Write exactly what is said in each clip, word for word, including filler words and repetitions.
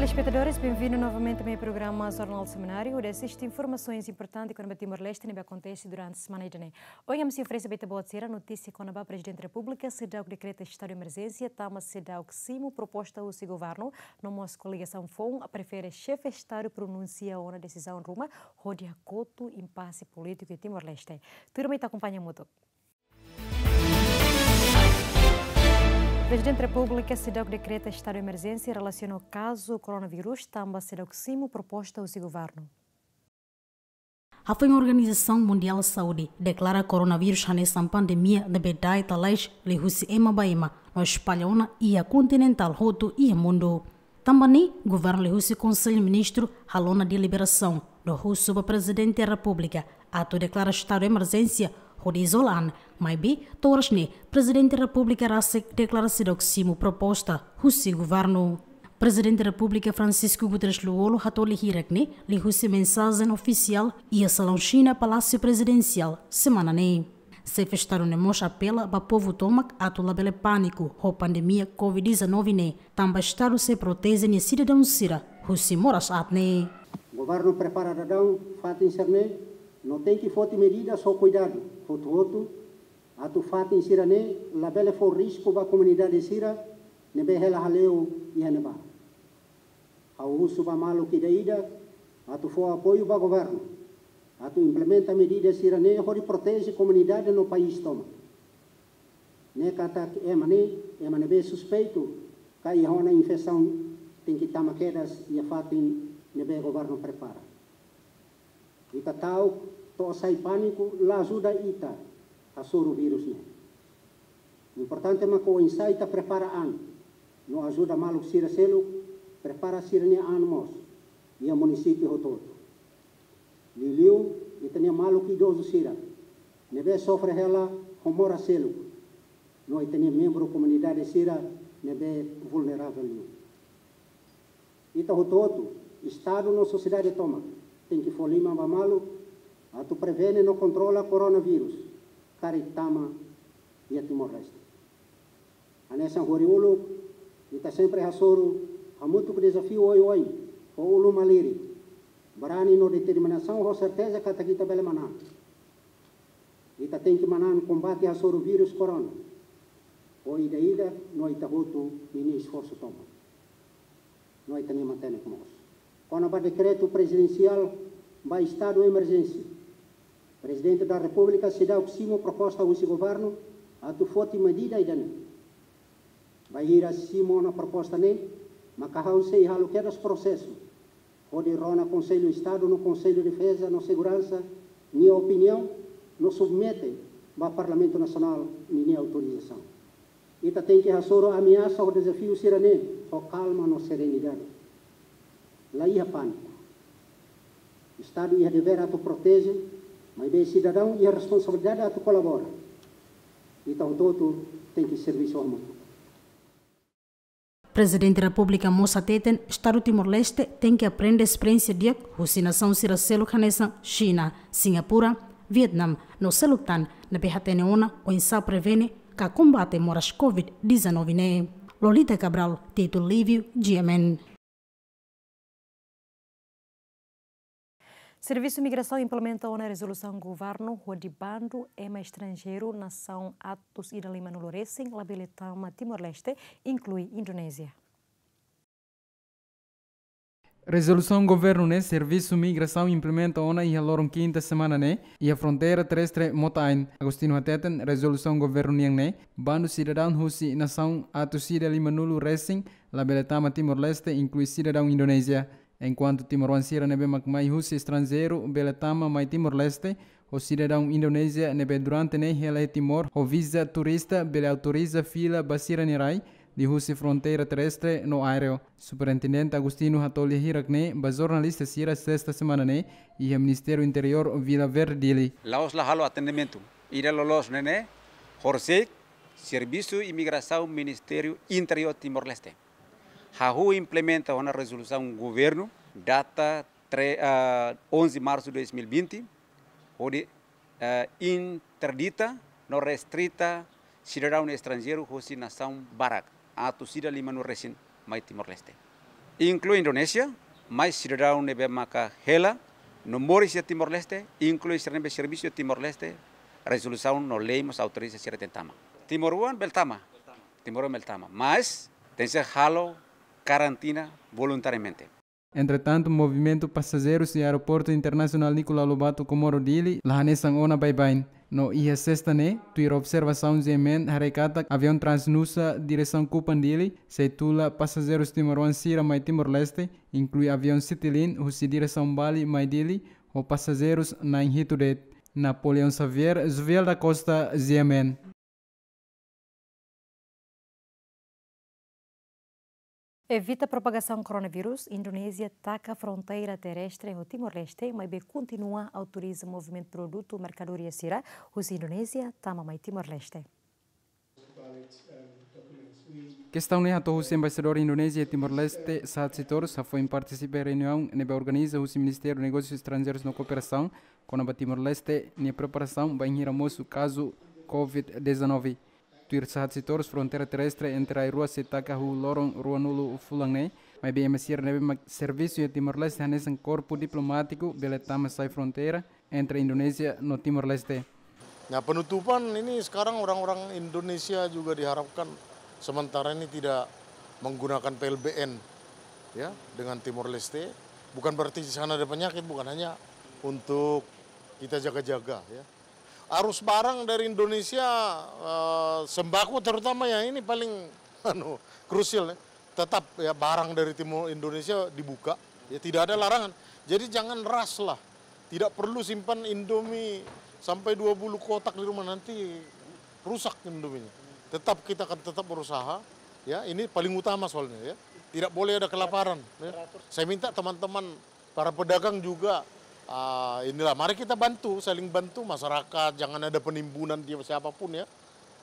Telespetadores, bem-vindo novamente ao meu programa Jornal Semanário, onde assiste informações importantes kona-ba Timor-Leste ne'ebé akontese durante semana ida-ne'e. Ohin ami sei oferese ba ita-boot sira notísia kona-ba Prezidente Repúblika seidauk dekreta estadu de emerjénsia, tanba seidauk simu proposta husi governu, no mós koligasaun foun prefere xefe estadu pronunsia ona desizaun ruma hodi hakotu impase polítiku iha Timor-Leste. Tuirmai ita akompaña hamutuk. Prezidente Repúblika seidauk dekreta estadu de emerjénsia relasiona ho kazu koronavírus, tanba seidauk simu proposta husi governu. Hafoin Organizasaun Mundiál Saúde deklara koronavírus hanesan pandemia ne'ebé da'et lalais liuhusi ema ba ema, no espalla ona iha kontinente hotu iha mundu. Tanba ne'e, governu liuhusi Konsellu Ministru halo ona deliberasaun, no husu ba Prezidente Repúblika atu deklara estadu de emerjénsia hodi izola an, maibé to'o oras ne'e Prezidente Repúblika rasik deklara seidauk simu proposta husi governu. Prezidente Repúblika Francisco Guterres Lú-Olo hato'o lia hirak ne'e liuhusi mensajen ofisiál iha salaun Xina, Palásiu Prezidensiál, semana ne'e. Xefe Estadu ne'e mós apela ba povu tomak atu labele pániku ho pandemia covid dezanove ne'e, tanba Estadu sei proteje nia sidadaun sira husi moras aat ne'e. Governu prepara daudaun fatin sira-ne'e, no tenke foti medidas ho kuidadu hotu-hotu, atu fatin sira-ne'e labele fó risku ba komunidade sira ne'ebé hela hale'u iha ne'ebá. Ha'u husu ba maluk ida-idak atu fó apoiu ba governu atu implementa medida sira-ne'e hodi proteje komunidade no país tomak. Ne'e katak ema ne'e, ema ne'ebé suspeitu ka iha ona infesaun tenke tama kedas iha fatin ne'ebé governu prepara. Ita ta'uk to'o sai pániku la ajuda ita hasoru vírus ne'e. Importante mak oinsá ita prepara an, no ajuda maluk sira seluk prepara sira-nia an mós iha munisípiu hotu-hotu. Liuliu ita-nia maluk idozu sira ne'ebé sofre hela ho moras seluk, no ita-nia membru komunidade sira ne'ebé vulneravel liu. Ita hotu-hotu, Estadu no sosiedade tomak, tenke fó liman ba malu atu prevene no kontrola koronavírus karik tama iha Timor-Leste. Hanesan horiuluk, ita sempre hasoru hamutuk dezafiu oioin, ho ulun malirin, barani no determinasaun ho serteza katak ita bele manán. Ita tenke manán kombate hasoru vírus korona ho ida-idak no ita hotu ninia esforsu tomak, no ita-nia matenek mós. Kona-ba dekretu prezidensiál ba estadu emerjénsia, Prezidente da Repúblika seidauk simu proposta husi governu atu foti medida ida-ne'e. Bainhira simu ona proposta ne'e, maka ha'u sei halo kedas prosesu hodi rona Konsellu Estadu no Konsellu Defeza no Seguransa nia opiniaun, no submete ba Parlamentu Nasionál ninia autorizasaun. Ita tenke hasoru ameasa ho dezafiu sira-ne'e ho kalma no serenidade. La iha pániku. Estadu iha devér atu proteje, maibé sidadaun iha responsabilidade atu kolabora. Ita hotu-hotu tenke servisu hamutuk. Prezidente Repúblika mós hateten, Estadu Timor-Leste tenke aprende esperiénsia di'ak husi nasaun sira seluk hanesan Xina, Singapura, Vietnam, no seluk tan, ne'ebé hatene ona oinsá prevene ka kombate moras covid dezanove ne'e. Lolita Cabral, Tito Lívio, G M N. Servisu Migrasaun implementa ona rezolusaun governu hodi bandu ema estranjeiru nasaun atus ida limanulu resin labele tama Timor-Leste, inklui Indonézia. Rezolusaun governu ne'e Servisu Migrasaun implementa ona iha loron kinta semana ne'e, iha fronteira terrestre Mota Ain. Agostinho hateten, rezolusaun governu nian ne'e, bandu sidadaun husi nasaun atus ida limanulu resin labele tama Timor-Leste, inklui sidadaun Indonézia. Enkuantu timoroan sira ne'ebé mak mai husi estranjeiru bele tama mai Timor-Leste, ho sidadaun Indonézia ne'ebé durante ne'e hela iha Timor ho viza turista bele autoriza fila ba sira-nia rai liuhusi fronteira terrestre no aéreu. Superintendente Agostinho hato'o lia hirak ne'e ba jornalista sira sesta semana ne'e iha Ministériu Interiór Vila Verde, Dili. La'ós la halo atendimentu. Ida loloos ne'e ne'e, horisehik Servisu Imigrasaun Ministériu Interiór Timor-Leste hahú implementa ona rezolusaun governu data tre-, ah, onze março dois mil e vinte, hodi, ah, interdita no restrita sidadaun estranjeiru husi nasaun barak, atus ida limanulu resin, mai Timor-Leste. inklui Indonézia, mai sidadaun ne'ebé maka hela no moris iha Timor-Leste, inklui sira ne'ebé servisu iha Timor-Leste, rezolusaun no lei mós autoriza sira tenke tama. Timoroan bele tama, timoroan bele tama, mas tenke halo karantina voluntariamente. Entretantu, movimentu pasajeirus iha Aeroportu Internasionál Nicolau Lobato Comoro Dili la hanesan ona baibain. No iha sesta ne'e, tuir observasaun G M N haree katak aviaun Transnusa diresaun Kupang Dili sei tula pasajeirus timoroan sira mai Timor-Leste, inklui aviaun Citilink husi diresaun Bali mai Dili, ho pasajeirus na'in hitu de'it. Napoleão Xavier, Joviel da Costa, G M N. Evita propagasaun koronavírus, Indonézia taka fronteira terrestre ho Timor-Leste, maibé kontinua autoriza movimentu produtu merkadoria sira husi Indonézia tama mai Timor-Leste. Kestaun ne'e hato'o husi Embaixadór Indonézia iha Timor-Leste, Sahat Sitorus, hafoin partisipa reuniaun ne'ebé organiza husi Ministériu Negósius Estranjeirus no Kooperasaun, kona-ba Timor-Leste nia preparasaun bainhira mosu kazu covid dezanove. Tuir Sahat Sitorus, fronteira terrestre entre rai rua sei taka husi loron ruanulu fulan ne'e, maibé ema sira ne'ebé mak servisu iha Timor-Leste hanesan korpu diplomátiku bele tama sai fronteira entre Indonézia no Timor-Leste. Nah, penutupan ini sekarang orang-orang Indonesia juga diharapkan sementara ini tidak menggunakan P L B N, ya, dengan Timor-Leste. Bukan berarti di sana ada penyakit, bukan, hanya untuk kita jaga-jaga, ya. Arus barang dari Indonesia, eh, sembako terutama, ya, ini paling, anu, krusial, ya. Tetap, ya, barang dari Timor Indonesia dibuka, ya, tidak ada larangan. Jadi jangan ras lah. Tidak perlu simpan Indomie sampai dua puluh kotak di rumah, nanti rusak Indominya. Tetap, kita akan tetap berusaha, ya, ini paling utama soalnya, ya. Tidak boleh ada kelaparan, ya. Saya minta teman-teman para pedagang juga, ah, inilah, mari kita bantu, saling bantu masyarakat, jangan ada penimbunan dia siapapun, ya.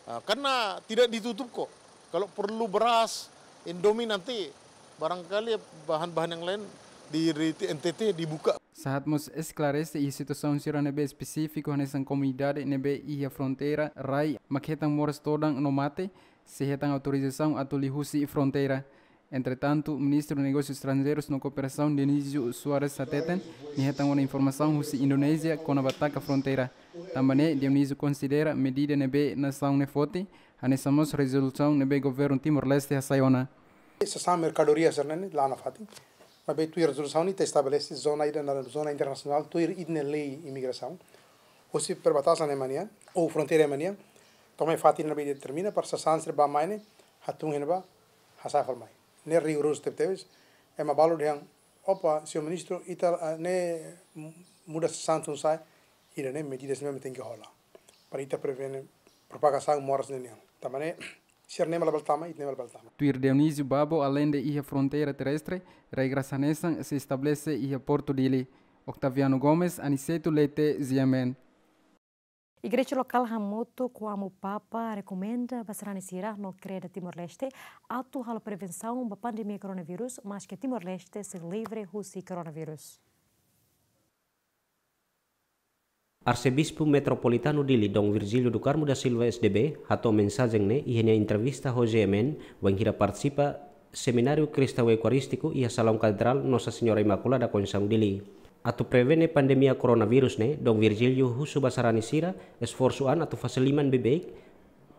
Ah, karena tidak ditutup kok. Kalau perlu beras, Indomie, nanti barangkali bahan-bahan yang lain di, di N T T dibuka. Sahat mós esklarese iha situasaun sira ne'ebé espesífiku hanesan komunidade ne'ebé iha fronteira rai mak hetan moras todan no mate, sei hetan autorizasaun atu liuhusi fronteira. Entretantu, Ministru Negósius Estranjeirus no Kooperasaun Dionísio Soares hateten, nia hetan ona informasaun husi Indonézia kona-ba taka fronteira. Tanba ne'e, Dionísio konsidera medida ne'ebé nasaun ne'e foti hanesan mós rezolusaun ne'ebé governu Timor-Leste hasai ona. Sasán merkadoria sira-ne'e la nafatin. Maibé tuir rezolusaun ne'e ita estabelese zona ida naran zona internasionál tuir ita-nia lei imigrasaun. Husi perbatasan ema nian, ou fronteira ema nian, to'o mai fatin ne'ebé determina para sasán sira bá-mai ne'e hatún iha ne'ebá, hasai fali mai. Ne'e rigorozu tebetebes, ema balu dehan, opa, señór ministru, ita, ah, ne'e muda sasán tun sa'e, ida-ne'e medidas ne'ebé tenke hola. Para ita prevene propagasaun moras ne'e nian. Tanba ne'e, sira-ne'e mak la bele tama, ita-nia mak la bele tama. Tuir Dionísio Babo, aleinde iha fronteira terrestre, regras hanesan sei estabelese iha Portu Dili. Octaviano Gomes, Aniceto Leite, G M N. Igreja lokál hamutuk ho Amu Papa rekomenda ba sarani sira no kreda Timor-Leste atu halo prevensaun ba pandemia koronavírus, maske Timor-Leste sei livre husi koronavírus. Arsebispu Metropolitanu Dili, Dom Virgílio do Carmo da Silva, S D B, hato'o mensajen ne'e iha nia entrevista ho G M N, bainhira partisipa Semináriu Kristaun Eukarístiku iha Salaun Katedrál Nossa Senhora Imaculada Conceição Dili. Atu prevene pandemia koronavírus ne'e, Dom Virgílio husu ba sarani sira esforsu an atu fase liman beibeik,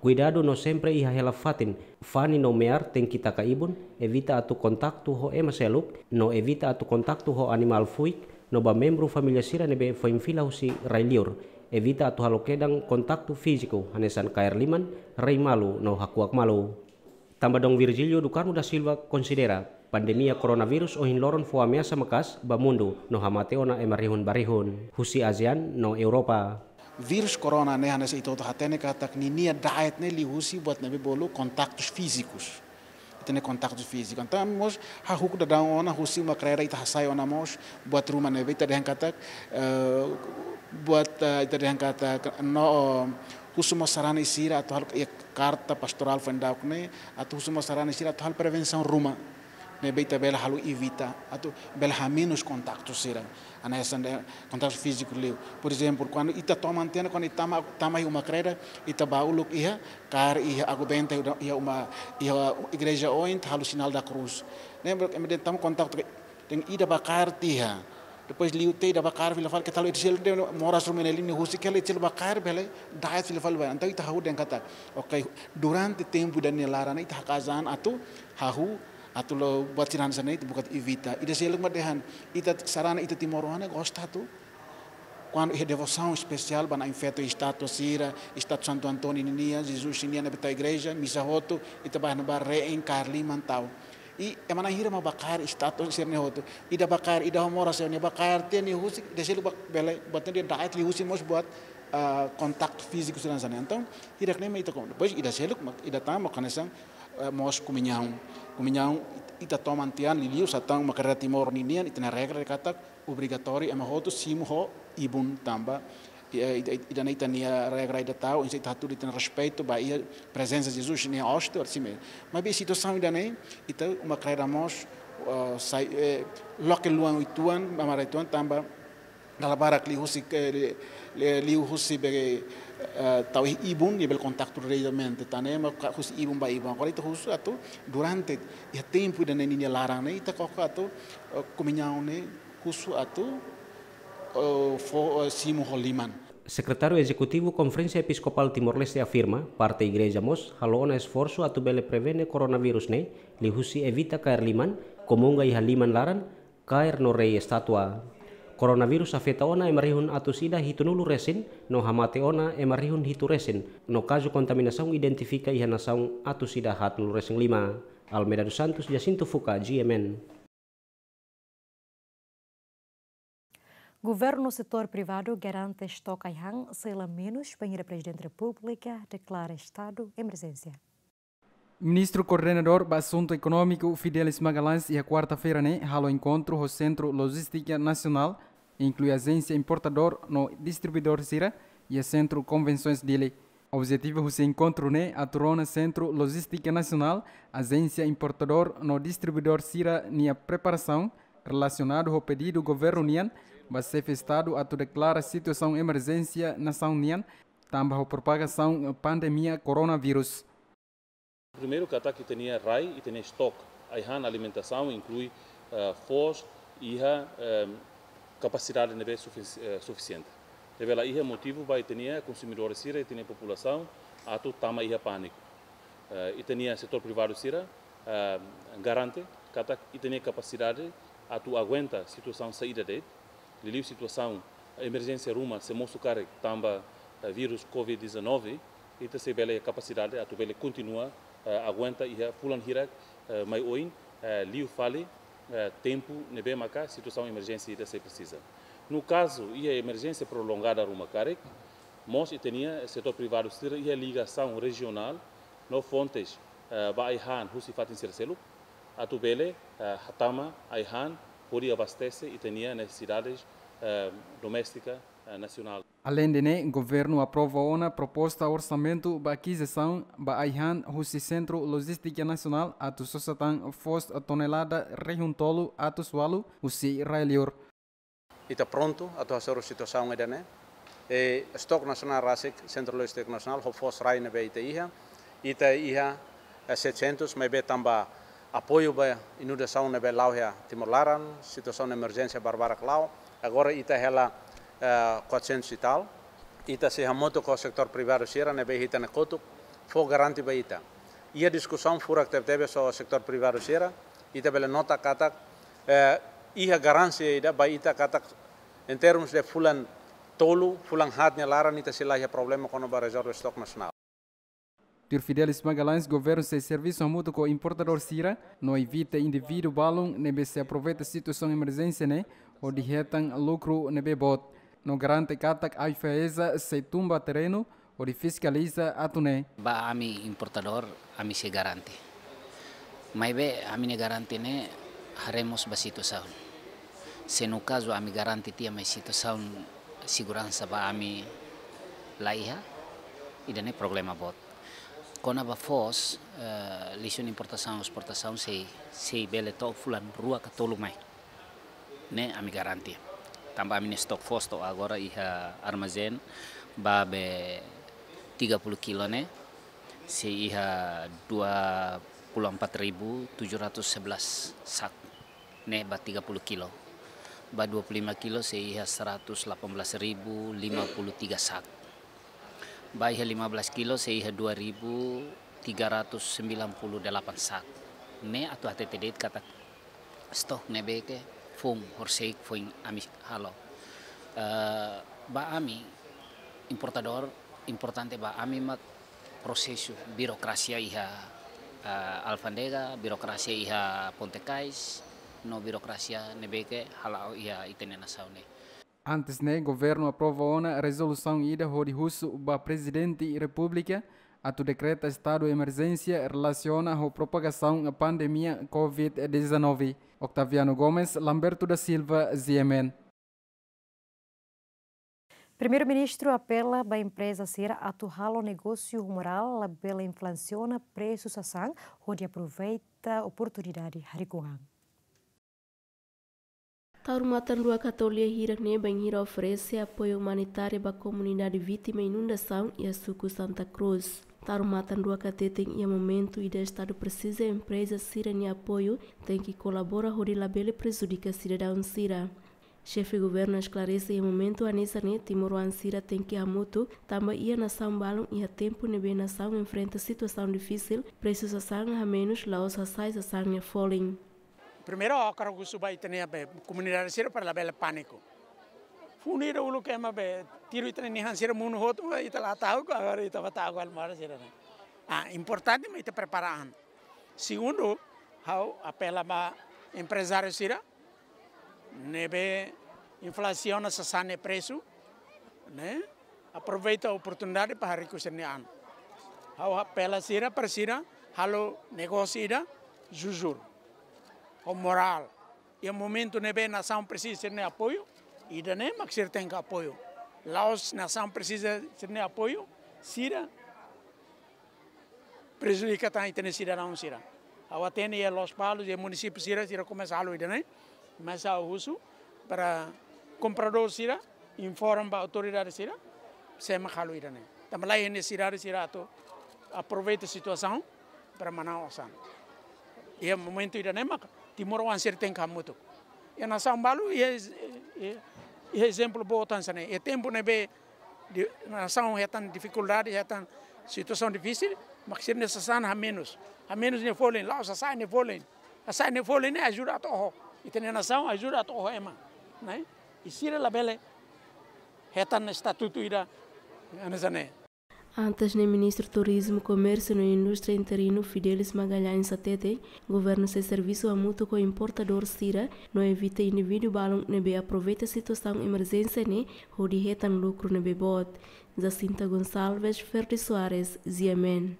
kuidadu no sempre iha hela fatin, fani no mear tenke taka ibun, evita atu kontaktu ho ema seluk, no evita atu kontaktu ho animál fuik, no ba membru família sira ne'ebé foin fila husi rai liur, evita atu halo kedan kontaktu fíziku, hanesan kaer liman, rai malu, no hakuak malu. Tanba Dom Virgílio do Carmo da Silva konsidera, pandemia koronavírus ohin loron fó ameasa maka'as ba mundu, no hamate ona ema rihun ba rihun, husi ASEAN no Europa. Vírus korona ne'e hanesan ita hotu hatene katak ninia da'et ne'e liuhusi buat ne'ebé bolu kontaktus fízikus. Ita-nia kontaktus fíziku. Entaun mós hahú daudaun ona husi uma kreda ita hasai ona mós buat ruma ne'ebé ita dehan katak, eh, buat, eh, ita dehan katak no, eh, husu mós sarani sira atu halo, iha karta pastorál foin daudauk ne'e, atu husu mós sarani sira atu halo prevensaun ruma. Ne'ebé ita bele halo evita, atu bele hamenus kontaktu sira. Hanesan de'it kontaktu fíziku liu. Por ezemplu, kuandu ita toman tiha ona, kuandu ita tama, tama iha uma-kreda, ita ba uluk iha, kaer iha aguabente, iha uma, iha igreja oin, ita halo sinál da krús. Ne'e, ema dehan tama kontaktu, dehan ida ba kaer tiha. Depois liu tiha ida ba kaer fila fali, keta haluha ida seluk de'it, moras ruma ne'e, liu husik hela ida seluk ba kaer bele da'et fila fali ba. Entaun ita hahú dehan katak, oke, durante tempu ida-ne'e laran ita haka'as an atu hahú, atu la'o buat sira hanesan ne'e ita buka atu evita. Ida seluk mak dehan, ita sarani ita timoroan ne'e gosta atu, kuandu iha devosaun espesiál ba Na'in Feto, estátua sira, estátua Santu António ninian, Jesus ninian, ne'ebé tau igreja, misa hotu, ita ba ne'ebá reen, kaer liman tau. I ema na'in hira mak ba kaer estátua sira-ne'e hotu. Ida ba kaer, ida ho moras, ida ba kaer tiha, nia husik, ida seluk ba bele, buat ne'e dehan da'et liuhusi mós buat, ah, kontaktu fíziku sira hanesan ne'e. Entaun, hirak-ne'e mak ita kon. Depois, ida seluk mak, ida tan mak hanesan, eh, mós komuñaun. Komuñaun it-, ita toman tiha an, liuliu satán uma-kreda Timor ninian, ita-nia regra dehan katak obrigatóriu ema hotu simu ho ibun tanba, eh, ida, ida, ida-ne'e ita-nia regra ida tau, oinsá ita hatudu ita-nia respeitu ba iha prezensa Jesus nia óstia, orsida. Maibé situasaun ida-ne'e, ita uma-kreda mós, eh, sai, eh, loke luan uitoan, mamara uitoan tanba dala barak liuhusi, eh, li-, li-, liuhusi be, eh, tau iha ibun, nia bele kontaktu diretamente, tan ne'e mak ka-, husi ibun ba ibun. Agora ita husu atu durante iha tempu ida-ne'e ninia laran ne'e, ita koko atu, eh, komuñaun ne'e husu atu, eh, fó, eh, simu ho liman. Sekretáriu Ezekutivu Konferénsia Episkopál Timor-Leste afirma, parte igreja mós halo ona esforsu atu bele prevene koronavírus ne'e, liuhusi evita kaer liman, komunga iha liman laran, kaer no rei estátua. Koronavírus afeta ona ema rihun atus ida hitunulu resin, no hamate ona ema rihun hitu resin, no kazu kontaminasaun identifika iha nasaun atus ida haatnulu resin lima. Almeida dos Santos, Jacinto Fuca, G M N. Governu no setór privadu garante estok ai-han sei la menus bainhira Prezidente Repúblika deklara estadu emerjénsia. Ministru Koordenadór ba Asuntu Ekonómiku, Fidelis Magalhães, iha kuarta-feira ne'e halo enkontru ho Sentru Lojístika Nasionál, inklui ajénsia importadór no distribuidór sira, iha Sentru Konvensoens Dili. Objetivu husi enkontru ne'e atu rona Sentru Lojístika Nasionál, ajénsia importadór no distribuidór sira-nia preparasaun relasionadu ho pedidu governu nian ba Xefe Estadu atu deklara situasaun emerjénsia nasaun nian, tanba ho propagasaun pandemia koronavírus. Primeiru, katak ita-nia rai, ita-nia estok ai-han alimentasaun, inklui, eh, foos, iha, eh, kapasidade ne'ebé sufis-, eh, sufisiente. Ne'ebé la iha motivu ba ita-nia konsumidór sira, ita-nia populasaun atu tama iha pániku. Eh, ita-nia setór privadu sira, eh, garante katak ita-nia kapasidade atu aguenta situasaun saida de'it, liuliu situasaun emerjénsia ruma sei mosu karik tanba, eh, vírus covid dezanove, ita sei bele kapasidade atu bele kontinua, eh, aguenta iha fulan hirak, eh, mai oin, eh, liu fali, eh, tempu ne'ebé maka situasaun emerjénsia ida sei presiza. No kazu iha emerjénsia prolongada ruma karik, mós ita-nia setór privadu sira iha ligasaun rejionál no fontes, eh, ba ai-han husi fatin sira seluk, atu bele, eh, hatama ai-han hodi abastese ita-nia nesesidades, eh, doméstika, eh, nasionál. Aleinde ne'e, governu aprova ona proposta orsamentu ba akizisaun ba ai-han husi Sentru Lojístika Nasionál atu sosa tan foos tonelada rihun tolu atus ualu husi rai-li'ur. Ita prontu atu hasoru situasaun ida-ne'e. E, estok nasionál rasik, Sentru Lojístika Nasionál, ho foos rai ne'ebé ita iha. Ita iha, eh, setecentos, maibé tanba apoiu ba inundasaun ne'ebé la'o iha Timor laran, situasaun emerjénsia barbarak la'o. Agora ita hela, eh, quatrocentos e tal. Ita sei hamutuk ho setór privadu sira ne'ebé iha ita-nia kotuk, fó garantia ba ita. Iha diskusaun furak tebetebes ho setór privadu sira, ita bele nota katak, eh, iha garantia ida ba ita katak, em termos de fulan tolu, fulan haat nia laran ita sei la iha problema kona-ba rezerva estok nasionál. Tuir Fidelis Magalhães, governu sei servisu hamutuk ho importadór sira, no evita indivíduu balun ne'ebé sei aproveita situasaun emerjénsia ne'e, hodi hetan lukru ne'ebé boot. No garante katak AIFAESA sei tun ba terrenu, hodi fiskaliza atu ne'e. Ba ami importadór, ami sei garante. Maibé ami-nia garante ne'e haree mós ba situasaun. Se no kazu ami garante tiha mai situasaun seguransa ba ami la iha, ida-ne'e problema boot. Kona-ba foos, eh, lixu nia importasaun, esportasaun sei, sei bele to'o fulan rua ka tolu mai. Ne'e ami garante. Tanba ami-nia estok foos to'o agora iha armazén ba be tiga puluh kilo ne'e, sei iha dua puluh empat ribu tujuh ratus sebelas sak. Ne'e ba tiga puluh kilo. Ba dua puluh lima kilo sei iha seratus delapan belas ribu lima puluh tiga sak. Ba iha lima belas kilo sei iha dua ribu tiga ratus sembilan puluh delapan sak. Ne'e atu hatete de'it katak estok ne'ebé ke foun, horisehik foin ami halo. Eh, ba ami importadór, importante ba ami mak prosesu birokrasia iha, eh, alfándega, birokrasia iha ponte-kais, no birokrasia ne'ebé ke hala'o iha ita-nia nasaun ne'e. Antes ne'e, governu aprova ona rezolusaun ida hodi husu ba Prezidente Repúblika atu dekreta estadu emerjénsia relasiona ho propagasaun pandemia covid dezanove. Octaviano Gomes, Lamberto da Silva, G M N. Primeiru-Ministru apela ba empreza sira atu halo negósiu ho morál, labele inflasiona presu sasán, hodi aproveita oportunidade hariku an. Taur matan rua ka tolu hirak ne'e bainhira oferese apoiu umanitáriu ba komunidade vítima inundasaun iha suku Santa Cruz. Taur matan rua ka teten iha momentu ida estadu presiza empreza sira-nia apoiu, tenke kolabora hodi labele prejudika sidadaun sira. Xefe governu esklarese iha momentu hanesan ne'e timoroan sira tenke hamutuk, tanba iha nasaun balun iha tempu ne'ebé nasaun enfrenta situasaun difisil, presu sasán hamenus, la'ós hasa'e sasán nia folin. Primeiru, ha'u hakarak husu ba ita-nia be komunidade sira para labele pániku. Funu ida uluk ema be tiru ita-nia nihan sira monu hotu, ita la ta'uk, agora ita ba ta'uk el mora sira ne'e. Ah, importante mak ita prepara an. Segundu, ha'u apela ba emprezáriu sira ne'ebé inflasiona sasán nia presu, ne'e aproveita oportunidade para hariku sira-nia an. Ha'u apela sira para sira halo negósiu ida jujur, ho morál. Iha momentu ne'ebé nasaun presiza sira-nia apoiu, ida-ne'e mak sira tenke apoiu. La'ós nasaun presiza sira-nia apoiu, sira prejudika tan ita-nia sidadaun sira. Ha'u hatene iha Lospalos, iha munisípiu sira, sira komesa halo ida-ne'e, mas ha'u husu para kompradór sira informa ba autoridade sira, sé mak halo ida-ne'e. Tanba laiha nesesidade sira atu aproveita situasaun para manán osan. Iha momentu ida-ne'e mak timoroan sira tenke hamutuk. Iha nasaun balu, iha, iha, iha ezemplu boot hanesan ne'e. Iha tempu ne'ebé di-, nasaun hetan difikuldade, hetan situasaun difisil, mak sira-nia sasán hamenus. Hamenus nia folin, la'ós hasa'e nia folin. Hasa'e nia folin ne'e ajuda atu oho ita-nia nasaun, ajuda atu oho ema, ne'e? I sira labele hetan estatutu ida hanesan ne'e. Antes ne'e, Ministru Turizmu, Komérsiu no Indústria interinu Fidelis Magalhães hatete, governu sei servisu hamutuk ho importadór sira, no evita indivíduu balun ne'ebé aproveita situasaun emerjénsia ne'e hodi hetan lukru ne'ebé boot. Jacinta Gonçalves, Ferdi Soares, G M N.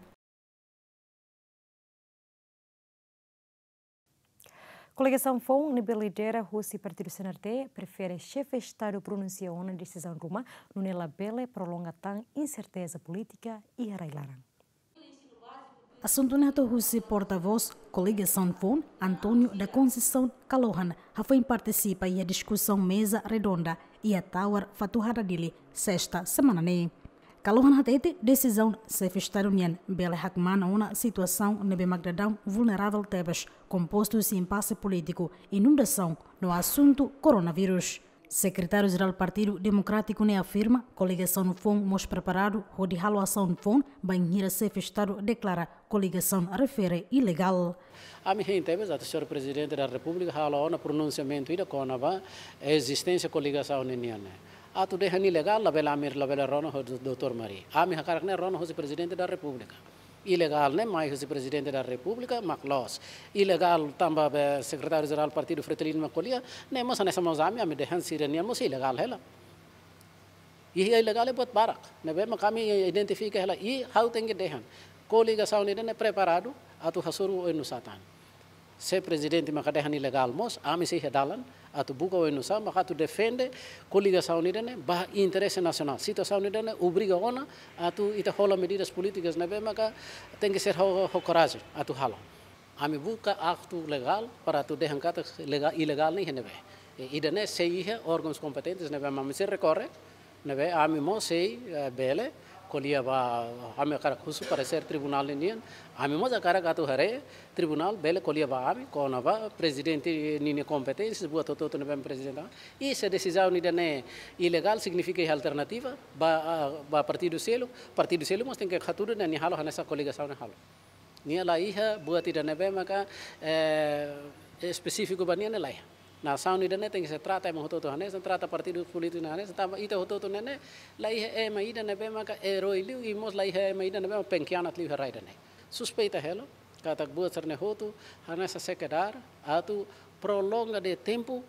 Koligasaun foun ne'ebé lidera husi partidu C N R T prefere xefe estadu pronunsia ona desizaun ruma, nune'e labele prolonga tan inserteza polítika iha rai-laran. Asuntu ne'e hato'o husi portavós koligasaun foun, António da Conceição Kalohan, hafoin partisipa iha diskusaun meza redonda iha Tower Fatuhada, Dili, sesta semana ne'e. Kalohan hatete desizaun xefe estadu nian bele hakmaan ona situasaun ne'ebé mak daudaun vulneravel tebes, kompostu husi impase polítiku, inundasaun no asuntu koronavírus. Sekretáriu-Jerál Partidu Demokrátiku ne'e afirma, koligasaun foun mós preparadu hodi halo asaun foun bainhira xefe estadu deklara koligasaun refere ilegál. Ami hein tebes atu señór Prezidente da Repúblika halo ona pronunsiamentu ida kona-ba ezisténsia koligasaun ninian ne'e. Atu dehan ilegál, labele ami, labele rona ho doutór Mari. Ami hakarak ne'e rona hosi Prezidente da Repúblika. Ilegál ne'e mai hosi Prezidente da Repúblika mak loos. Ilegál tanba be Sekretáriu-Jerál Partidu Fretilin mak ko'alia, ne'e mós hanesan mós ami, ami dehan sira-nian mós ilegál hela. I ilegál ne'e buat barak. Ne'ebé mak ami identifika hela, i ha'u tenke dehan. Koligasaun ida-ne'e preparadu atu hasoru oin-nusá tan. Se prezidente maka dehan ilegál mós, ami sei iha dalan atu buka oinsá maka atu defende koligasaun ida-ne'e ba interese nasionál. Situasaun ida-ne'e obriga ona atu ita hola medidas polítikas ne'ebé maka tenke ser ho, ho korajen atu halo. Ami buka aktu legál para atu dehan katak lega-, ilegál ne'e iha ne'ebé. E, ida-ne'e sei iha órgauns kompetentes ne'ebé ami sei rekorre, ne'ebé ami mós sei, eh, bele ko'alia ba, ami hakarak husu paresér tribunál nian, ami mós hakarak atu haree tribunál bele ko'alia ba ami kona-ba prezidente ninia kompeténsia, buat hotu-hotu ne'ebé prezidente. I se desizaun ida-ne'e ilegál signifika iha alternativa ba, ah, ba partidu seluk, partidu seluk mós tenke hatudu nia halo hanesan koligasaun ne'e halo. Nia la iha buat ida ne'ebé maka, eh, espesífiku ba nia ne'e la iha. Nasaun ida-ne'e tenke ser trata ema hotu-hotu hanesan, trata partidu polítiku hanesan, tanba ita hotu-hotu ne'e ne'e la iha ema ida ne'ebé maka erói liu, i mós la iha ema ida ne'ebé maka pengkhianat liu iha rai ida-ne'e. Suspeita hela katak buat sira-ne'e hotu hanesan sekedar atu prolonga de'it tempu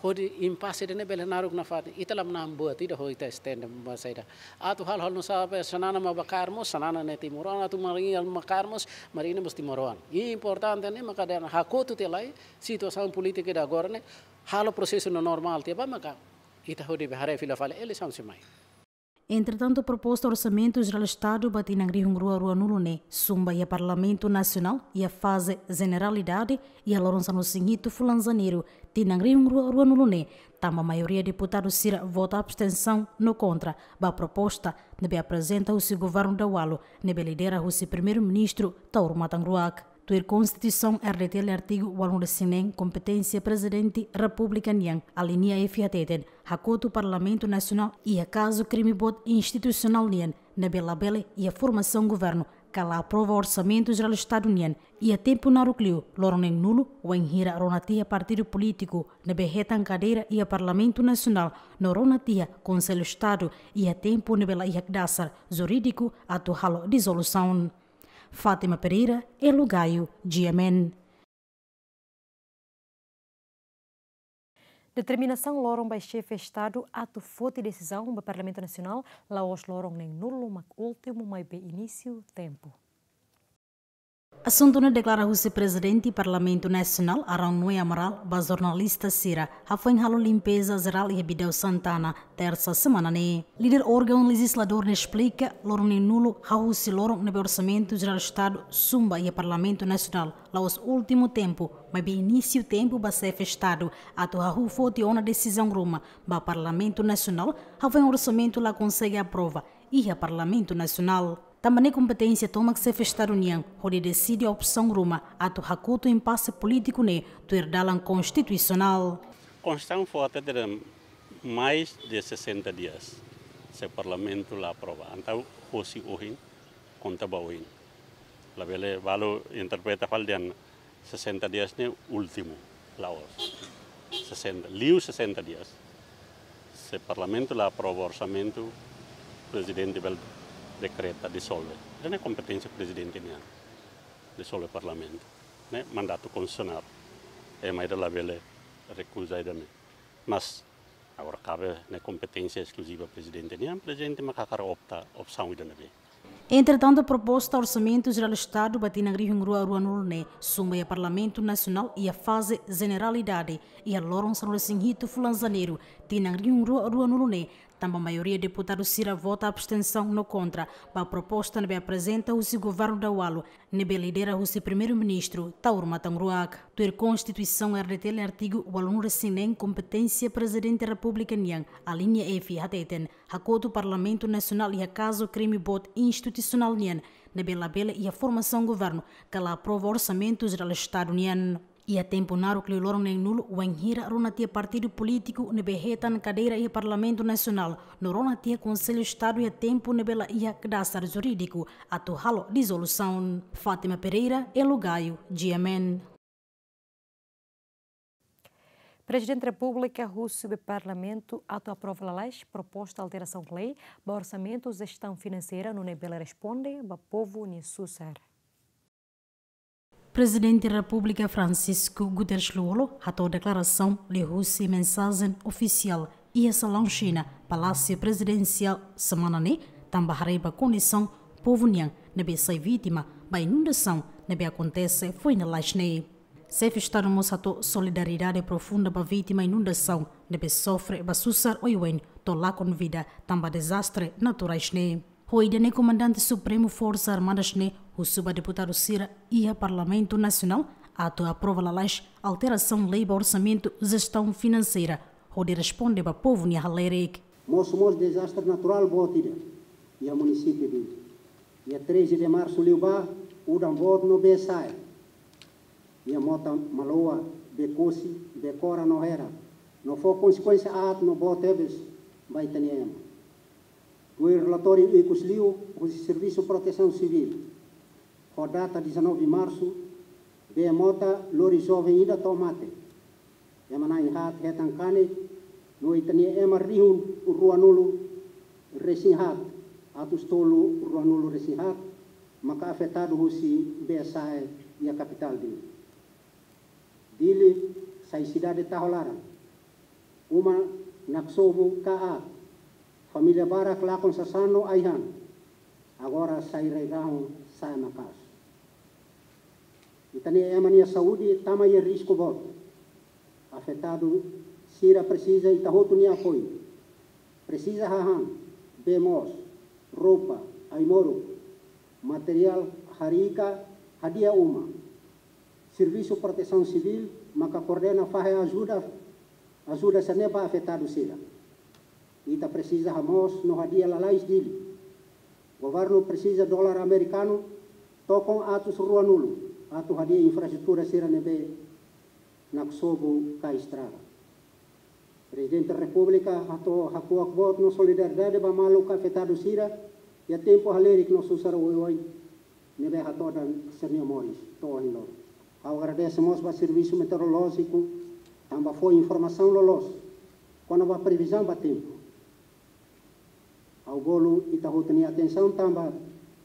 hodi impase ida-ne'e bele naruk nafatin. Ita la manán buat ida hodi ita estende ba saida. Atu halo, halo nu'usá, be, Xanana mak bá kaer mós, Xanana ne'e timoroan, atu Marinha mak kaer mós, Marinha mós timoroan. I importante ne'e maka dehan hakotu tiha lai situasaun polítika ida agora ne'e, halo prosesu no normál tiha ba maka ita hodi bá haree fila fali eleisaun sei mai. Entretantu, proposta Orsamentu Jerál Estadu ba tinan rihun rua ruanulu ne'e sun ba iha Parlamentu Nasionál iha faze jeneralidade iha loron sanulu-resin-hitu fulan Janeiru tinan rihun rua ruanulu ne'e, tanba maioria deputadu sira vota abstensaun no kontra ba proposta ne'ebé aprezenta husi governu daualu ne'ebé lidera husi Primeiru-Ministru Taur Matan Ruak. Tuir Konstituisaun R D T L artigu ualunulu-resin-neen, kompeténsia Prezidente Repúblika nian, alínea F, hateten, hakotu Parlamentu Nasionál iha kazu krime boot institusionál nian ne'ebé labele iha formasaun governu ka la aprova Orsamentu Jerál Estadu nian iha tempu naruk liu, loron neen-nulu, wainhira rona tiha partidu polítiku ne'ebé hetan kadeira iha Parlamentu Nasionál no rona tiha Konsellu Estadu iha tempu ne'ebé la iha dasar jurídiku atu halo dizolusaun. Fátima Pereira, Elo Gaio, G M N. Determinasaun loron ba xefe Estadu atu foti desizaun ba Parlamentu Nasionál la'ós loron neen-nulu mak últimu maibé inísiu tempu. Asuntu ne'e deklara husi Prezidente Parlamentu Nasionál, Arão Noé Amaral, ba jornalista sira hafoin halo limpeza jerál iha Bidau Santana, tersa semana ne'e. Líder órgaun lejizladór ne'e esplika, loron neen-nulu hahú husi loron ne'ebé Orsamentu Jerál Estadu sun ba iha Parlamentu Nasionál, la'ós últimu tempu, maibé inísiu tempu ba xefe Estadu atu hahú foti ona desizaun ruma ba Parlamentu Nasionál, hafoin orsamentu la konsege aprova iha Parlamentu Nasionál. Tanba ne'e kompeténsia tomak xefe Estadu nian hodi deside opsaun ruma atu hakotu impase polítiku ne'e tuir dalan konstitusionál. Konstituisaun fó hateten mais de sessenta dias se Parlamentu la aprova. Entaun, hosi ohin, konta ba ohin. Labele balu interpreta fali dehan sessenta dias ne'e últimu, la'ós. Sessenta, liu sessenta dias. Se Parlamentu la aprova orsamentu, Prezidente bele dekreta dizolve. Ida-ne'e kompeténsia Prezidente nian, dizolve Parlamentu. Ne'e mandatu konstitusionál. Ema ida labele rekuza ida-ne'e. Mas agora kabe ne'e kompeténsia eskluziva Prezidente nian, Prezidente mak hakarak opta opsaun ida ne'ebé. Entretantu, proposta Orsamentu Jerál Estadu ba tinan rihun rua ruanulu ne'e sun ba iha Parlamentu Nasionál iha faze jeneralidade iha loron sanulu-resin-hitu fulan Janeiru tinan rihun rua ruanulu ne'e, tanba maioria deputadu sira vota abstensaun no kontra ba proposta ne'ebé aprezenta husi governu daualu ne'ebé lidera husi Primeiru-Ministru Taur Matan Ruak. Tuir Konstituisaun R D T L artigu ualunulu-resin-neen, kompeténsia Prezidente Repúblika nian, alínea F, hateten, hakotu Parlamentu Nasionál iha kazu krime boot institusionál nian ne'ebé labele iha formasaun governu ka la aprova Orsamentu Jerál Estadu nian iha tempu naruk liu loron neen-nulu, wainhira rona tiha partidu polítiku ne'ebé hetan kadeira iha Parlamentu Nasionál no rona tiha Konsellu Estadu iha tempu ne'ebé la iha dasar jurídiku atu halo dizolusaun. Fátima Pereira, Elo Gaio, G M N. Prezidente Repúblika husu ba Parlamentu atu aprova lalais proposta alterasaun lei ba orsamentu jestaun finanseira nune'e bele responde ba povu nia susar. Prezidente Repúblika Francisco Guterres Lú-Olo hato'o deklarasaun liuhusi mensajen ofisiál iha salaun Xina, Palásiu Prezidensiál, semana ne'e, tanba haree ba kondisaun povu nian ne'ebé sai vítima ba inundasaun ne'ebé akontese foin lalais ne'e. Xefe Estadu mós hato'o solidariedade profunda ba vítima inundasaun ne'ebé sofre ba susar oioin to'o lakon vida tanba dezastre naturais ne'e. Ho ida-ne'e Komandante Supremu Forsas Armadas ne'e husu ba deputadu sira iha Parlamentu Nasionál atu aprova lalais alterasaun lei ba orsamentu jestaun finanseira hodi responde ba povu nia halerik. Mosu mós dezastre naturál boot ida iha munisípiu Dili. Iha treze de março liubá, udan boot no bee sa'e. Iha mota Maloa, Bekosi, Bekora no Hera, no fó konsekuénsia aat no boot tebes ba ita-nia ema. Tuir relatóriu ikus liu husi Servisu Protesaun Sivíl, ho data dezanove março, bee mota lori joven ida to'o mate. Ema na'in haat hetan kanek, no ita-nia ema rihun ruanulu resin haat, atus tolu ruanulu resin haat, maka afetadu husi bee sa'e iha kapitál Dili. Dili sai sidade taho laran. Uma naksobu ka aat. Família barak lakon sasán no ai-han. Agora sai rai-rahun, sa'e maka'as. Ita-nia ema nia saúde tama iha risku boot. Afetadu sira presiza ita hotu nia apoiu. Presiza hahán, bee moos, roupa, ai-moruk, materiál harii ka hadi'a uma. Servisu Protesaun Sivíl maka koordena fahe ajuda, ajuda sira-ne'e ba afetadu sira. Ita presiza hamoos no hadi'a lalais Dili. Governu presiza dolar amerikanu tokon atus ruanulu atu hadi'a infraestrutura sira ne'ebé naksobu ka estraga. Prezidente Repúblika hato'o hakuak boot no solidariedade ba maluk afetadu sira iha tempu halerik no susar oioin ne'ebé hatodan sira-nia moris to'o ohin loron. Ha'u agradese mós ba Servisu Meteorolójiku tanba fó informasaun loloos kona-ba previzaun ba tempu. Ha'u bolu ita hotu nia atensaun tanba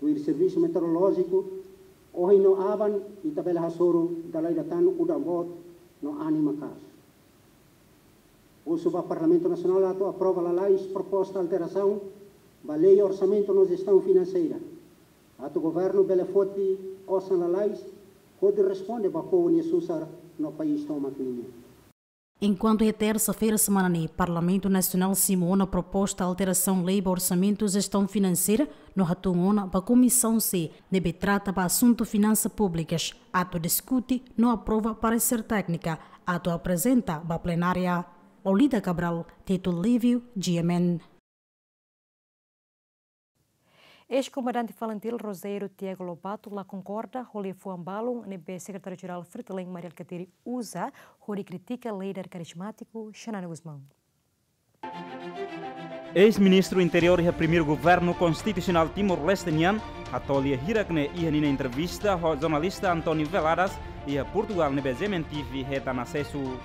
tuir Servisu Meteorolójiku, ohin no aban ita bele hasoru dala ida tan udan boot no anin maka'as. Husu ba Parlamentu Nasionál atu aprova lalais proposta alterasaun ba Lei Orsamentu no Jestaun Finanseira, atu governu bele foti osan lalais hodi responde ba povu nia susar no país tomak ninia. Enkuantu iha tersa-feira semana ne'e, Parlamentu Nasionál simu ona proposta alterasaun lei ba orsamentu jestaun finanseira no hatun ona ba Komisaun C ne'ebé trata ba asuntu finansa públikas atu diskute no aprova paresér téknika atu aprezenta ba plenária. Lolita Cabral, Tito Livio, G M N. Eis-komandante Falintil Rogério Tiago Lobato la konkorda ho liafuan balun ne'ebé Sekretáriu-Jerál Fretilin Mari Alkatiri uza hodi kritika líder karizmátiku Xanana Gusmão. Eis-Ministru Interiór iha Primeiru Governu Konstitusionál Timor-Leste nian hato'o lia hirak ne'e iha ninia entrevista ho jornalista António Veladas iha Portugal ne'ebé G M N T V hetan asesu.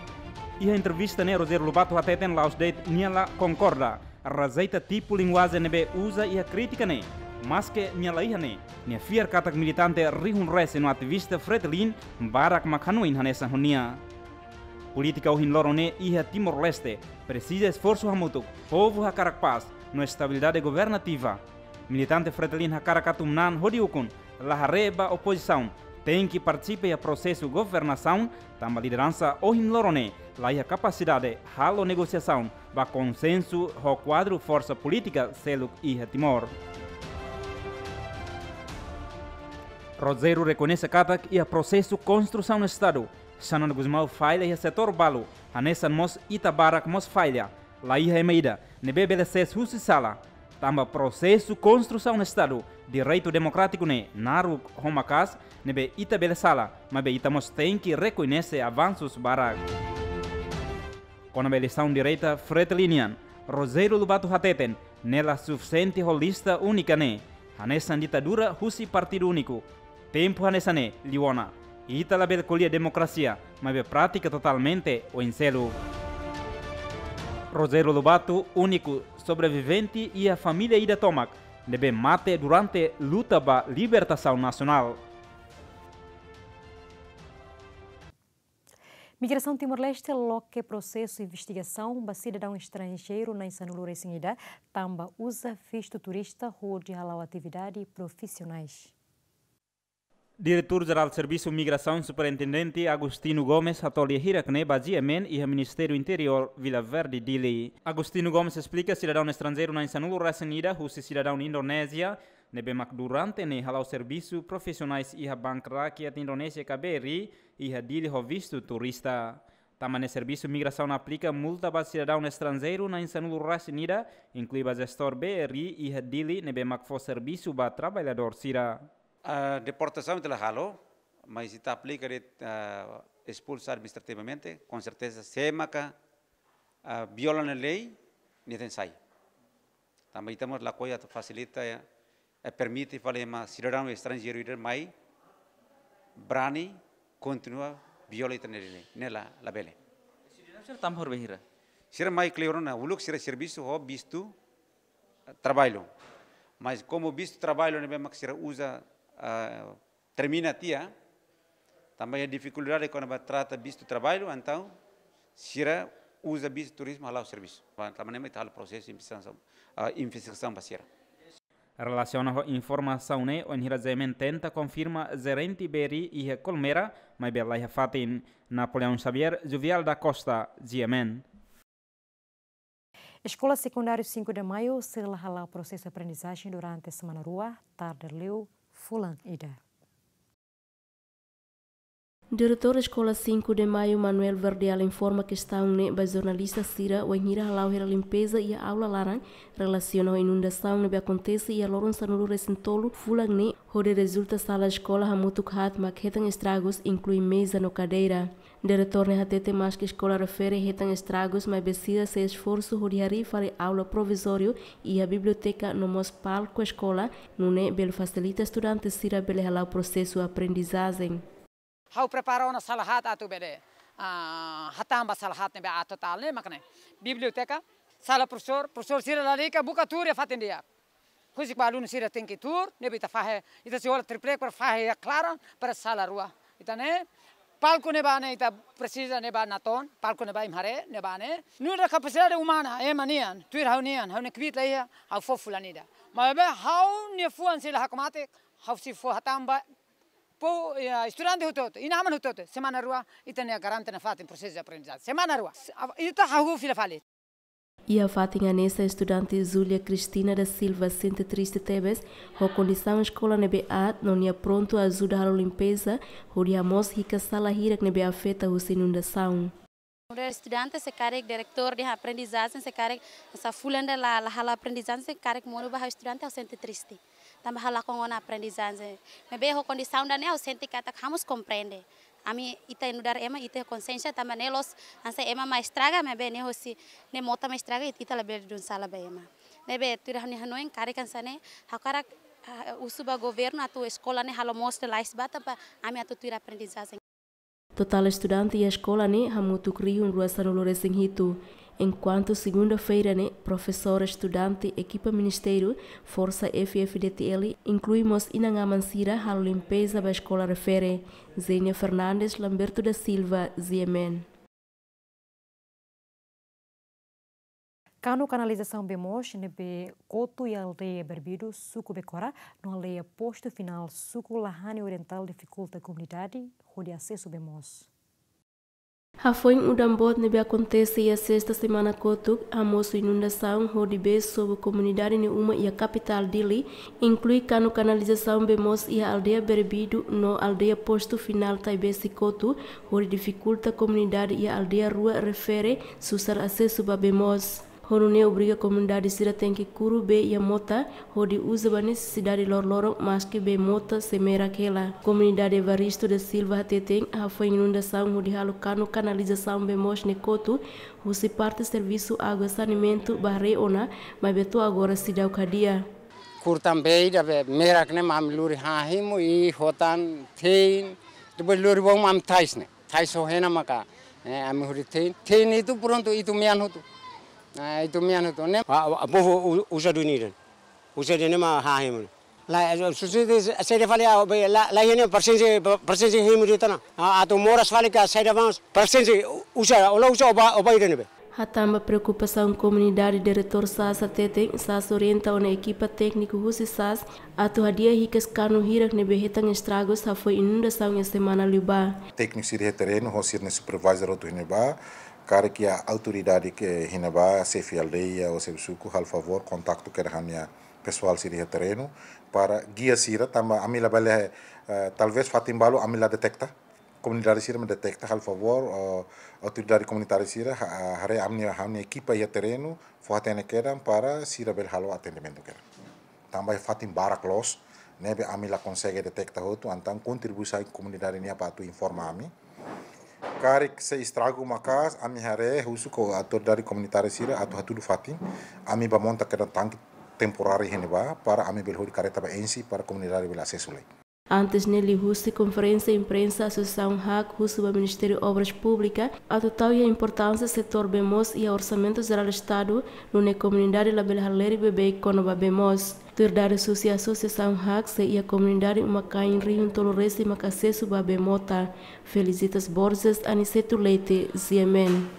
Iha entrevista ne'e Rogério Lobato hateten la'ós de'it nia la konkorda, rejeita tipu linguajen ne'ebé uza iha krítika ne'e, maske nia la iha ne'e, nia fiar katak militante rihun resin no ativista Fretilin barak mak hanoin hanesan ho nia. Polítika ohin loron ne'e iha Timor-Leste presiza esforsu hamutuk, povu hakarak pás no estabilidade governativa. Militante Fretilin hakarak atu manán hodi ukun, la haree ba opozisaun, tenke partisipa iha prosesu governasaun, tanba lideransa ohin loron ne'e la iha kapasidade halo negosiasaun ba konsensu ho kuadru forsa polítika seluk iha Timor. Rogério rekoñese katak iha prosesu konstrusaun Estadu, Xanana Gusmão falla iha setór balu, hanesan mós ita barak mós falla, la iha ema ida ne'ebé bele sees husi sala, tanba prosesu konstrusaun Estadu, direitu demokrátiku ne'e naruk ho maka'as, ne'ebé ita bele sala, maibé ita mós tenke rekoñese avansus barak. Kona-ba eleisaun direta Fretilin nian, Rogério Lobato hateten, ne'e la sufisiente ho lista únika ne'e, hanesan ditadura husi partidu úniku. Tempu hanesan ne'e liu ona, ita labele ko'alia demokrasia, maibé pratika totalmente oin seluk. Rogério Lobato, úniku sobrevivente iha família ida tomak ne'ebé mate durante luta ba libertasaun nasionál. Migrasaun Timor-Leste loke prosesu investigasaun ba sidadaun estranjeiru na'in sanulu resin ida, tanba uza vistu turista hodi hala'o atividade profisionais. Diretór Jerál Servisu Migrasaun, Superintendente Agostinho Gomes, hato'o lia hirak-ne'e ba GMN iha Ministériu Interiór, Vila Verde, Dili. Agostinho Gomes esplika sidadaun estranjeiru na'in sanulu resin ida husi sidadaun Indonézia ne'ebé mak durante ne'e hala'o servisu profisionais iha bank rakyat Indonézia ka BRI iha Dili ho vistu turista. Tanba ne'e Servisu Migrasaun aplika multa ba sidadaun estranjeiru na'in sanulu resin ida, inklui ba jestór BRI iha Dili ne'ebé mak fó servisu ba traballadór sira. A deportasaun ita la halo, mas ita aplika de'it, ah, espulsa administrativamente, com certeza, sé maka, ah, viola ona lei, nia tenke sai. Tanba ita mós lakohi atu fasilita, eh, eh, permite fali ema sidadaun estranjeiru ida mai brani kontinua viola ita-nia lei, ne'e la, labele. Sidadaun sira tanba horibainhira? Sira mai kleur ona, uluk sira servisu ho vistu, eh, traballu. Mas komu vistu traballu ne'ebé mak sira uza, ah, termina tiha, tanba iha difikuldade kona-ba trata vistu traballu, entaun sira uza vistu turizmu hala'o servisu. Tanba ne'e mak ita halo prosesu investigasaun, ah, investigasaun ba sira. Relasiona ho informasaun ne'e, ohin hira GMN tenta konfirma jerente BRI iha Colmera, maibé laiha fatin. Napoleão Xavier, Jovial da Costa, GMN. Eskola Sekundáriu Cinco de Maio sei la hala'o prosesu aprendizajen durante semana rua, tarde liu fulan ida. Diretór Eskola Cinco de Maio, Manuel Verdial, informa kestaun ne'e ba jornalista sira wainhira hala'o hela limpeza iha aula laran, relasiona ho inundasaun ne'ebé akontese iha loron sanulu resin tolu fulan ne'e, hodi rezulta sala eskola hamutuk haat mak hetan estragus, inklui meza no kadeira. Diretór ne'e hatete maski eskola refere hetan estragus, maibé sira sei esforsu hodi harii fali aula provizóriu iha biblioteka no mós palku eskola, nune'e bele fasilita estudante sira bele hala'o prosesu aprendizajen. Ha'u prepara ona sala haat atu bele, ah, hatán ba sala haat ne'ebé aat totál ne'e mak ne'e. Biblioteka, sala profesór, profesór sira lalika buka tuur iha fatin di'ak. Husik ba alunu sira tenke tuur, ne'ebé ita fahe, ita sei hola triplek para fahe iha klaran, para sala rua. Ita-nia palku ne'ebá ne'e ita presiza ne'ebá natoon, palku ne'ebá imi haree, ne'ebá ne'e. Nu'udar kapasidade umana, ema nian, tuir ha'u-nian, ha'u-nia kbiit la iha, ha'u fó fulan ida. Maibé ha'u-nia fuan sei la hakmatek, ha'u sei fó hatán ba povu, ya, estudante hotu-hotu, inan-aman hotu-hotu, semana rua, ita-nia garante nafatin prosesu de aprendizajen. Semana rua, ita hahú fila fali. Iha fatin hanesan estudante Júlia Cristina da Silva sente triste tebes ho kondisaun eskola ne'ebé aat no nia prontu ajuda halo limpeza, hodi hamoos hikas sala hirak ne'ebé afeta husi inundasaun. Nu'udar estudante, se karik diretór dehan aprendizajen, se karik hanesan fulan ida la, la hala'o aprendizajen, se karik monu ba ha'u estudante, ha'u sente triste. Tanba ha'u lakon ona aprendizajen. Maibé ho kondisaun ida-ne'e ha'u sente katak ha'u mós komprende. Ami ita nu'udar ema, ita konsiénsia tanba ne'e loos, hanesan ema mak estraga, maibé ne'e hosi, ne'e mota mak estraga, ita labele dun sala ba ema. Ne'ebé tuir ha'u-nia hanoin karik hanesan ne'e, ha'u hakarak, ah, husu ba governu atu eskola ne'e halo moos lalais ba tanba ami atu tuir aprendizajen. Totál estudante iha eskola ne'e hamutuk rihun rua sanulu resin hitu. Enkuantu segunda-feira ne'e, profesór, estudante, ekipa ministériu, forsa F-FDTL, inklui mós inan-aman sira halo limpeza ba eskola refere. Zenia Fernandes, Lamberto da Silva, GMN. Kanu kanalizasaun bee moos ne'ebé kotu iha aldeia Berbidu, suku Becora, no aldeia Postu Final, suku Lahane Orientál difikulta komunidade hodi asesu bee moos. Hafoin udan boot ne'ebé akontese iha sesta semana kotuk, hamosu inundasaun hodi bee sobu komunidade nia uma iha kapitál Dili, inklui kanu kanalizasaun bee moos iha aldeia Berbidu no aldeia Postu Final Taibesi kotu, hodi difikulta komunidade iha aldeia rua refere susar asesu ba bee moos. Ho nune'e obriga komunidade sira tenke kuru bee iha mota, hodi uza ba nesesidade loroloron maski bee mota sei merak hela. Komunidade Evaristo da Silva hateten, hafoin inundasaun hodi halo kanu kanalizasaun bee moos ne'e kotu, husi parte servisu água saneamentu ba haree ona, maibé to'o agora seidauk hadi'a. Kuru tan bee ida be merak ne'e mak ami lori han hemu i hotan tein, depois lori ba uma ami tais ne'e. Tais ho hena maka, eh, ami hodi tein. Tein itu prontu, itu mean hotu. Ah, itu mean hotu. Ne'e. Ah, ah, povu u-, uza duni ida. Uza duni mak han hemu. La, eh, susi de, saida fali, ah, be, la, la, hene, persensi, persensi hemu de'it ona. Ah, atu moras fali ka saida vamos. Persensi, uza, ola uza oba, oba ida ne'ebé. Hatán ba preokupasaun komunidade, Diretór sas hateten, sas orienta ona ekipa tékniku husi sas atu hadi'a hikas kanu hirak ne'ebé hetan estragus hafoin inundasaun iha semana liubá. Tékniku sira iha terrenu ho sira-nia supervisor hotu iha ne'ebá, karik iha autoridade iha ne'ebá, xefe aldeia ou xefe suku, halo favór kontaktu kedas ho ha'u-nia pesoál sira iha terrenu para gia sira, tanba ami labele, eh, talvés fatin balu ami la deteta. Komunidade sira mak deteta, halo favór, eh, autoridade komunitária sira, ha-, haree ami-nia, ami-nia ekipa iha terrenu, fó-hatene kedas para sira bele halo atendimentu kedas. Tanba iha fatin barak loos ne'ebé ami la konsege deteta hotu, entaun kontribuisaun komunidade nian para atu informa ami. Karik sei estragu maka'as, ami haree husu ho autoridade komunitária sira atu hatudu fatin, ami bá monta kedas tanke temporáriu iha ne'ebá, para ami bele hodi karreta bá enxe para komunidade bele asesu lai. Antes ne'e, liuhusi konferénsia imprensa, Asosiasaun HAK husu ba Ministériu Obras Públikas atu tau iha importánsia setór bee moos iha Orsamentu Jerál Estadu, nune'e komunidade labele halerik beibeik kona-ba bee moos. Tuir dadus husi Asosiasaun HAK, sei iha komunidade uma-kain rihun tolu resin mak asesu ba bee mota. Felicitas Borges, Aniceto Leite, G M N.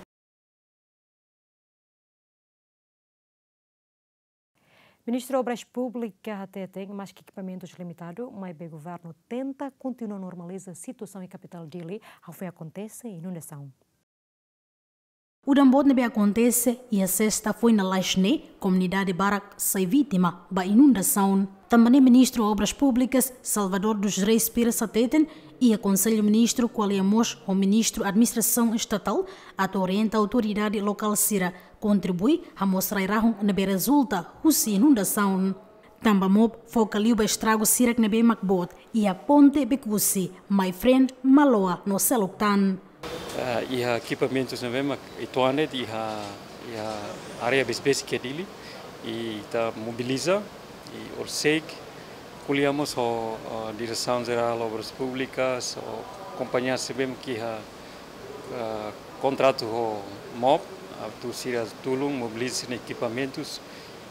Ministru Obras Públikas hateten, maske ekipamentus limitadu, maibé governu tenta kontinua normaliza situasaun iha kapitál Dili, hafoin akontese inundasaun. Udan boot ne'ebé akontese iha sesta foin lalais ne'e, komunidade barak sai vítima ba inundasaun. Tanba ne'e Ministru Obras Públikas, Salvador dos Reis Pires hateten, iha Konsellu Ministru ko'alia mós ho Ministru Administrasaun Estatál atu orienta autoridade lokál sira kontribui hamoos rai-rahun ne'ebé rezulta husi inundasaun. Tanba MOP foka liu ba estragu sira ne'ebé mak boot iha ponte Bekusi, Maifreen, Maloa no seluk tan. Eh, iha ekipamentus ne'ebé mak uitoan de'it iha, iha área besik-besik iha Dili, i ita mobiliza, i horiseik ko'alia mós ho, eh, Diresaun Jerál Obras Públikas, ho kompañia sira ne'ebé mak iha, eh, kontratu ho MOP, atu sira tulun mobiliza sira-nia ekipamentus,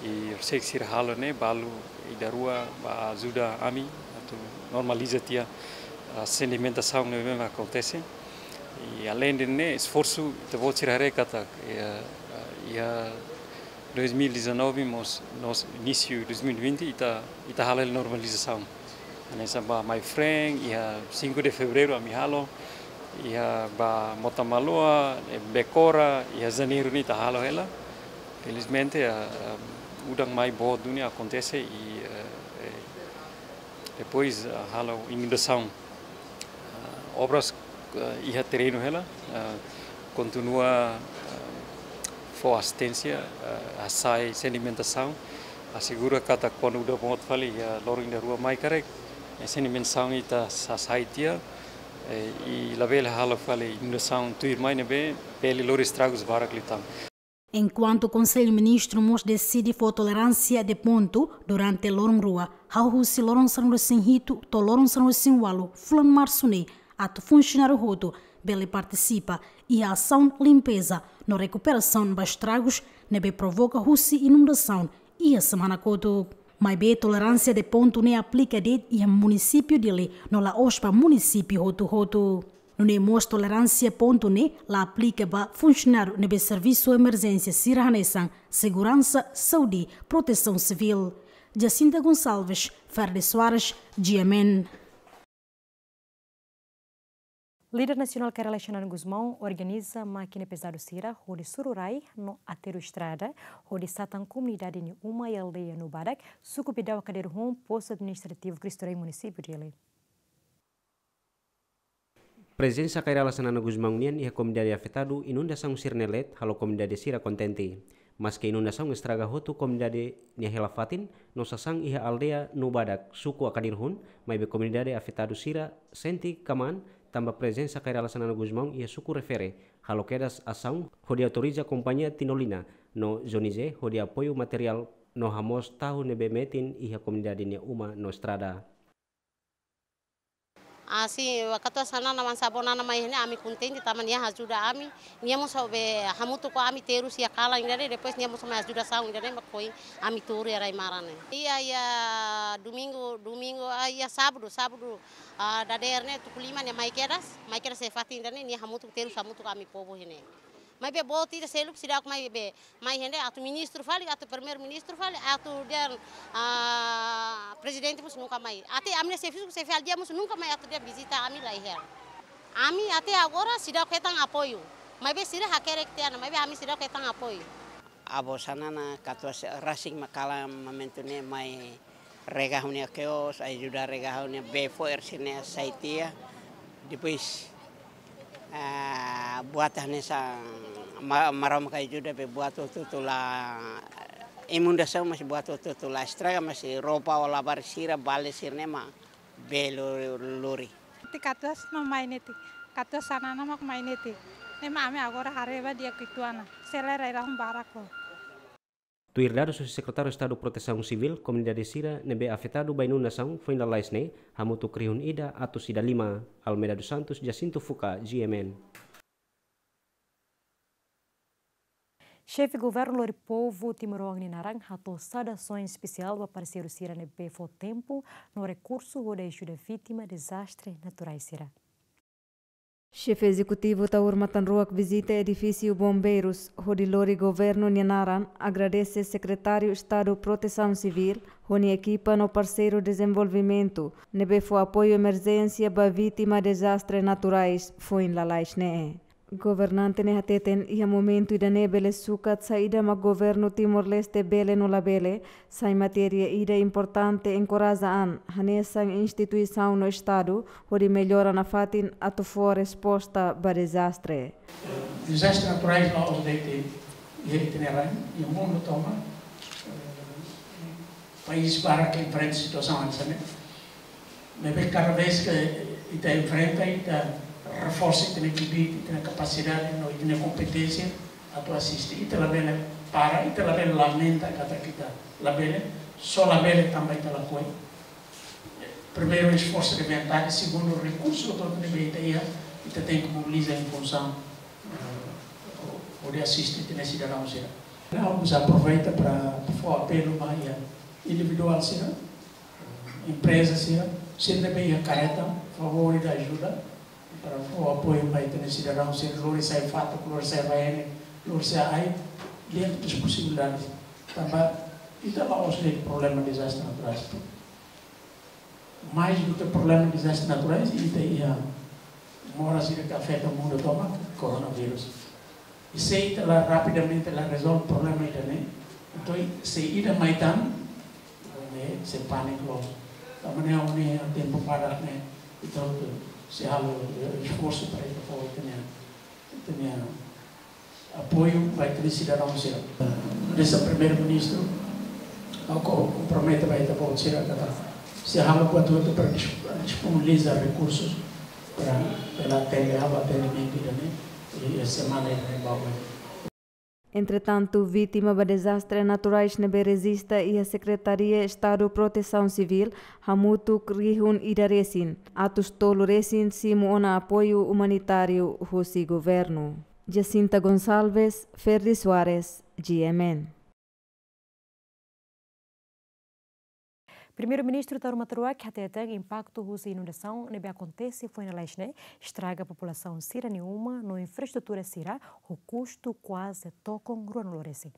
i horiseik sira halo ne'e, balu ida-rua bá ajuda ami atu normaliza tiha, ah, sedimentasaun ne'ebé mak akontese. I aleinde ne'e, esforsu, ita-boot sira haree katak, iha, iha dois mil e dezanove, mós, no inísiu dois mil e vinte, ita, ita halo normalizasaun. Hanesan ba Maifreen, iha cinco de Fevereiro, ami halo, iha ba Mota Maloa, eh, Becora, iha Janeiru ne'e ita halo hela. Felizmente, ah, ah, udan mai boot duni akontese i, eh, eh, depois, ah, halo inundasaun. Ah, obras, ah, iha terrenu hela, ah, kontinua, ah, fó asisténsia, ah, hasai sedimentasaun, asegura katak kuandu udan boot fali iha loron ida rua mai karik, eh, sedimentasaun ita hasai tiha, eh, i labele halo fali inundasaun tuirmai ne'ebé bele lori estragus barak liután. Enkuantu Konsellu Ministru mós deside fó toleránsia de pontu durante loron rua, hahú husi loron sanulu-resin-hitu to'o loron sanulu-resin-ualu fulan Marsu ne'e, atu funsionáriu hotu bele partisipa iha asaun limpeza no rekuperasaun ba estragus ne'ebé provoka husi inundasaun iha semana kotuk. Maibé toleránsia de pontu ne'e aplika de'it iha munisípiu Dili no la'ós ba munisípiu hotu-hotu. Nune'e mós toleránsia pontu ne'e la aplika ba funsionáriu ne'ebé servisu emerjénsia sira hanesan seguransa, saúde, protesaun sivíl. Jacinta Gonçalves, Ferde Soares, G M N. Líder nasionál Kay Rala Xanana Gusmão organiza mákina pezadu sira hodi suru rai no aterru estrada, hodi satan komunidade nia uma iha aldeia Nubadak, suku Bedau Akaderhun, postu administrativu Cristo Rei, munisípiu Dili. Prezensa Kay Rala Xanana Gusmão nian iha komunidade afetadu inundasaun sira-ne'e leet halo komunidade sira kontente. Maske inundasaun estraga hotu komunidade nia hela fatin, no sasán iha aldeia Nubadak, suku Akaderhun, maibé komunidade afetadu sira sente kamaan tanba prezensa Kay Rala Xanana Gusmão iha suku refere, halo kedas asaun hodi autoriza kompañia Tinolina no Zonizé hodi apoiu materiál no hamoos tahu ne'ebé metin iha komunidade nia uma no estrada. Ah, sin, wakatu Xanana Mansabon Nana mai ne'e ami kontente tanba nia ajuda ami. Nia mós be hamutuk ho ami terus iha kalan ida-ne'e, depois nia mós mai ajuda asaun ida-ne'e mak foin ami tuur iha rai-maran ne'e. Iha, iha domingu, domingu, ah, iha sábadu, sábadu, ah, dadeer ne'e tuku lima nia mai kedas, mai kedas iha fatin ida-ne'e, nia hamutuk terus hamutuk ho ami povu iha ne'e. Maibé boot ida seluk seidauk mai be, mai hein de'it atu ministru fali, atu primeiru-ministru fali, atu dehan, ah, prezidente mós nunka mai. Até ami-nia xefe, xefe aldeia mós nunka mai atu dehan vizita ami, laiha. Ami até agora seidauk hetan apoiu. Maibé sira hakerek tiha ona, maibé ami seidauk hetan apoiu. Avó Xanana katuas rasik mak kalan momentu ne'e mai regaha ha'u-nia kios, ajuda regaha ha'u-nia bee fo'er sira-ne'e sai tiha. Depois, ah, buat hanesan ma-, Maromak ajuda be buat hotu-hotu la, inundasaun, mas buat hotu-hotu la estraga, mas roupa ou labarik sira, bale sira-ne'e mak bee lo-, lori. Ti katuas mak mai netik, katuas Xanana mak mai netik. Ne'e mak ami agora haree ba di'ak uitoan ona, selae rai-rahun barak ho. Tuir dadus husi Sekretáriu Estadu Protesaun Sivíl, komunidade sira ne'ebé afetadu ba inundasaun foin lalais ne'e hamutuk rihun ida atus ida lima. Almeida dos Santos, Jacinto Fuca, G M N. Xefe Governu lori povu timoroan nia naran hato'o saudasaun espesiál ba parseiru sira ne'ebé fó tempu no rekursu hodi ajuda vítima dezastre naturais sira. Xefe Ezekutivu Taur Matan Ruak vizita edifísiu Bombeirus, hodi lori Governu nia naran agradese Sekretáriu Estadu Protesaun Sivíl, ho nia ekipa no parseiru dezenvolvimentu, ne'ebé fó apoiu emerjénsia ba vítima dezastre naturais foin lalais ne'e. Governante ne'e hateten iha momentu ida-ne'e bele sukat saida mak Governu Timor-Leste bele no labele, sai matéria ida importante enkoraja an hanesan instituisaun no Estadu, hodi mellora nafatin atu fó resposta ba dezastre. Dezastre naturais la'ós de'it iha ita-nia rain, iha mundu tomak, eh, país barak ke enfrenta situasaun hanesan ne'e. Maibé kada vez ke ita enfrenta, ita reforsa ita-nia kbiit, ita-nia kapasidade, no ita-nia kompeténsia atu asiste. Ita labele para, ita labele lamenta katak ita labele, só labele tanba ita lakohi. Primeiru, esforsu de vontade, segundu, rekursu hotu-hotu ne'ebé ita iha, ita tenke mobiliza em funsaun, eh, hodi asiste ita-nia sidadaun sira. Ha'u mós aproveita para fó apelu ba iha individuál sira, empreza sira, sira ne'ebé iha kareta, favór ida ajuda, para fó apoiu ba ita-nia sidadaun sira, lori sai fatuk, lori sai baene, lori sai ai, dentro das possibilidades. Tanba ita la'ós de'it problema dezastre naturais. Mais do que problema dezastre naturais, ita iha moras ida ke afeta mundu tomak, coronavírus. I se ita la rapidamente la rezolve problema ida-ne'e, entaun se ida mai tan, ne'e sei pániku loos. Tanba ne'e ha'u hanoin tempu badak ne'e, ita hotu sei halo, eh, esforsu para ita fó ita-nia, ita-nia apoiu ba ita-nia sidadaun sira. Hanesan Primeiru-Ministru, ha'u kompromete ba ita-boot sira katak sei halo buat hotu para dis-, disponibiliza rekursus para, para atende, halo atendimentu ida-ne'e, iha semana ida-ne'ebé bá oin. Entretantu, vítima ba dezastre naturais ne'ebé rejista iha Sekretaria Estadu Protesaun Sivíl hamutuk rihun ida resin, atus tolu resin simu ona apoiu umanitáriu husi Governu. Jacinta Gonçalves, Ferdi Soares, G M N. Primeiru-Ministru Taur Matan Ruak hateten impaktu husi inundasaun ne'ebé akontese foin lalais ne'e estraga populasaun sira-nia uma no infraestrutura sira ho kustu kuaze tokon ruanulu resin.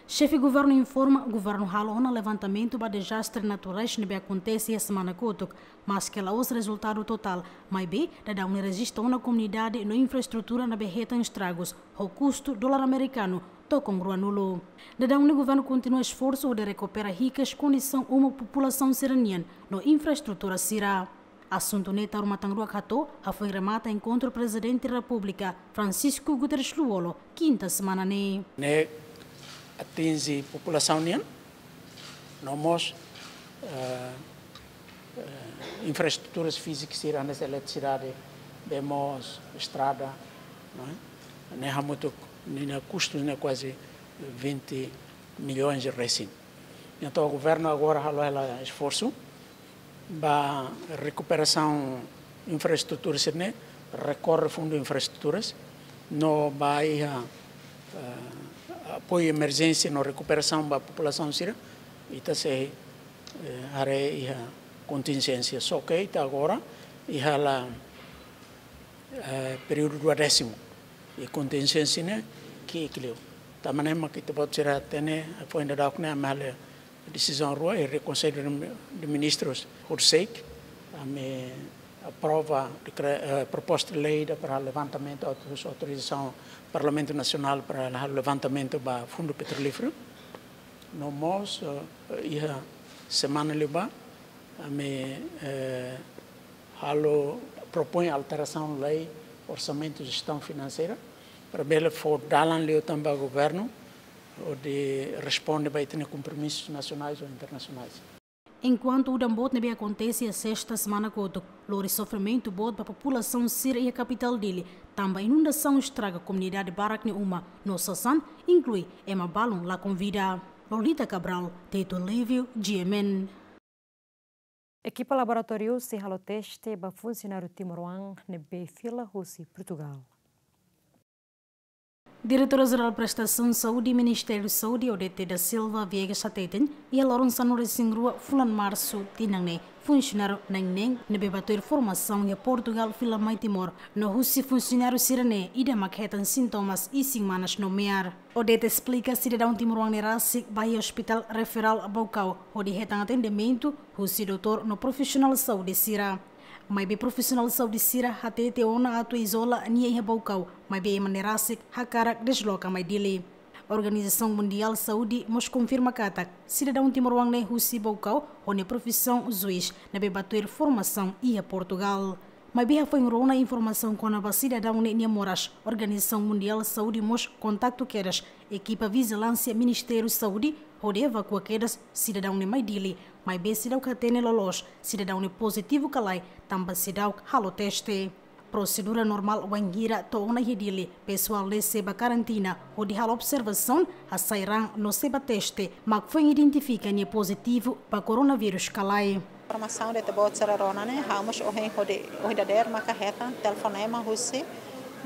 Xefe Governu informa, Governu halo ona levantamentu ba dezastre naturais ne'ebé akontese iha semana kotuk, maske la'ós rezultadu totál, maibé daudaun ne'e rejista ona komunidade no infraestrutura ne'ebé hetan estragus, ho kustu dolar amerikanu tokon ruanulu. Daudaun ne'e Governu kontinua esforsu hodi rekupera hikas kondisaun uma populasaun sira-nian no infraestrutura sira. Asuntu ne'e Taur Matan Ruak hato'o hafoin remata enkontru Prezidente Repúblika Francisco Guterres Lú-Olo, kinta semana ne'e. Ne'e atinje populasaun nian, no mós, eh, eh, infraestruturas fízikas sira hanesan eletrisidade, bee moos, estrada, não é? Ne'e hamutuk, ninia kustu ne'e kuaze vinte milhões resin. Entaun, Governu agora halo hela esforsu ba rekuperasaun infraestrutura sira-ne'e, rekorre Fundu Infraestruturas, no ba iha, eh, apoiu emerjénsia no rekuperasaun ba populasaun sira, ita sei, eh, haree iha kontinjénsia. Só ke ita agora iha la, eh, períodu duodésimu. I kontinjénsia ne'e ki'ik liu. Tanba ne'e mak ita-boot sira hatene, foin daudauk ne'e ami halo desizaun rua iha Konsellu de Ministrus horisehik, ami aprova dekre-, eh, proposta lei ida para levantamentu, auto-, autorizasaun Parlamentu Nasionál para halo levantamentu ba Fundu Petrolíferu. No mós, eh, iha semana liubá, ami, eh, halo propoin alterasaun lei orsamentu jestaun finanseira, para bele fó dalan liután ba governu hodi responde ba ita-nia kompromisus nasionais ou internasionais. Enkuantu udan boot ne'ebé akontese iha sesta semana kotuk, lori sofrimentu boot ba populasaun sira iha kapitál Dili, tanba inundasaun estraga komunidade barak nia uma, no sasán, inklui ema balun lakon vida. Lolita Cabral, Tito Lívio, G M N. Ekipa laboratóriu sei halo teste ba funsionáriu timoroan ne'ebé fila husi Portugal. Diretora Jerál Prestasaun Saúde Ministériu Saúde, Odete da Silva Viegas hateten, iha loron sanulu-resin-rua fulan Marsu tinan ne'e, funsionáriu na'in-neen ne'ebé bá tuir formasaun iha Portugal fila mai Timor, no husi funsionáriu sira-ne'e ida mak hetan sintomas isin-manas no me'ar. Odete esplika sidadaun timoroan ne'e rasik bá iha Hospital Referral Baucau, hodi hetan atendimentu husi doutór no profisionál saúde sira. Maibé profisionál saúde sira hatete ona atu izola nia iha Baucau, maibé ema ne'e rasik hakarak desloka mai Dili. Organizasaun Mundiál Saúde mós konfirma katak sidadaun timoroan ne'e husi Baucau ho nia profisaun juís ne'ebé bá tuir formasaun iha Portugal. Maibé hafoin rona informasaun kona-ba sidadaun ne'e nia moras, Organizasaun Mundiál Saúde mós kontaktu kedas ekipa vijilánsia Ministériu Saúde hodi evakua kedas sidadaun ne'e mai Dili, maibé seidauk hatene loloos sidadaun ne'e pozitivu ka lae, tanba seidauk halo teste. Prosedura normál wainhira to'o ona iha Dili, pesoál ne'e sei bá karantina hodi halo observasaun, hasai raan no sei bá teste, mak foin identifika nia pozitivu ba koronavírus ka lae. Informasaun ida ita-boot sira rona ne'e, ha'u mós ohin hodi, ohin dadeer maka hetan telefonema husi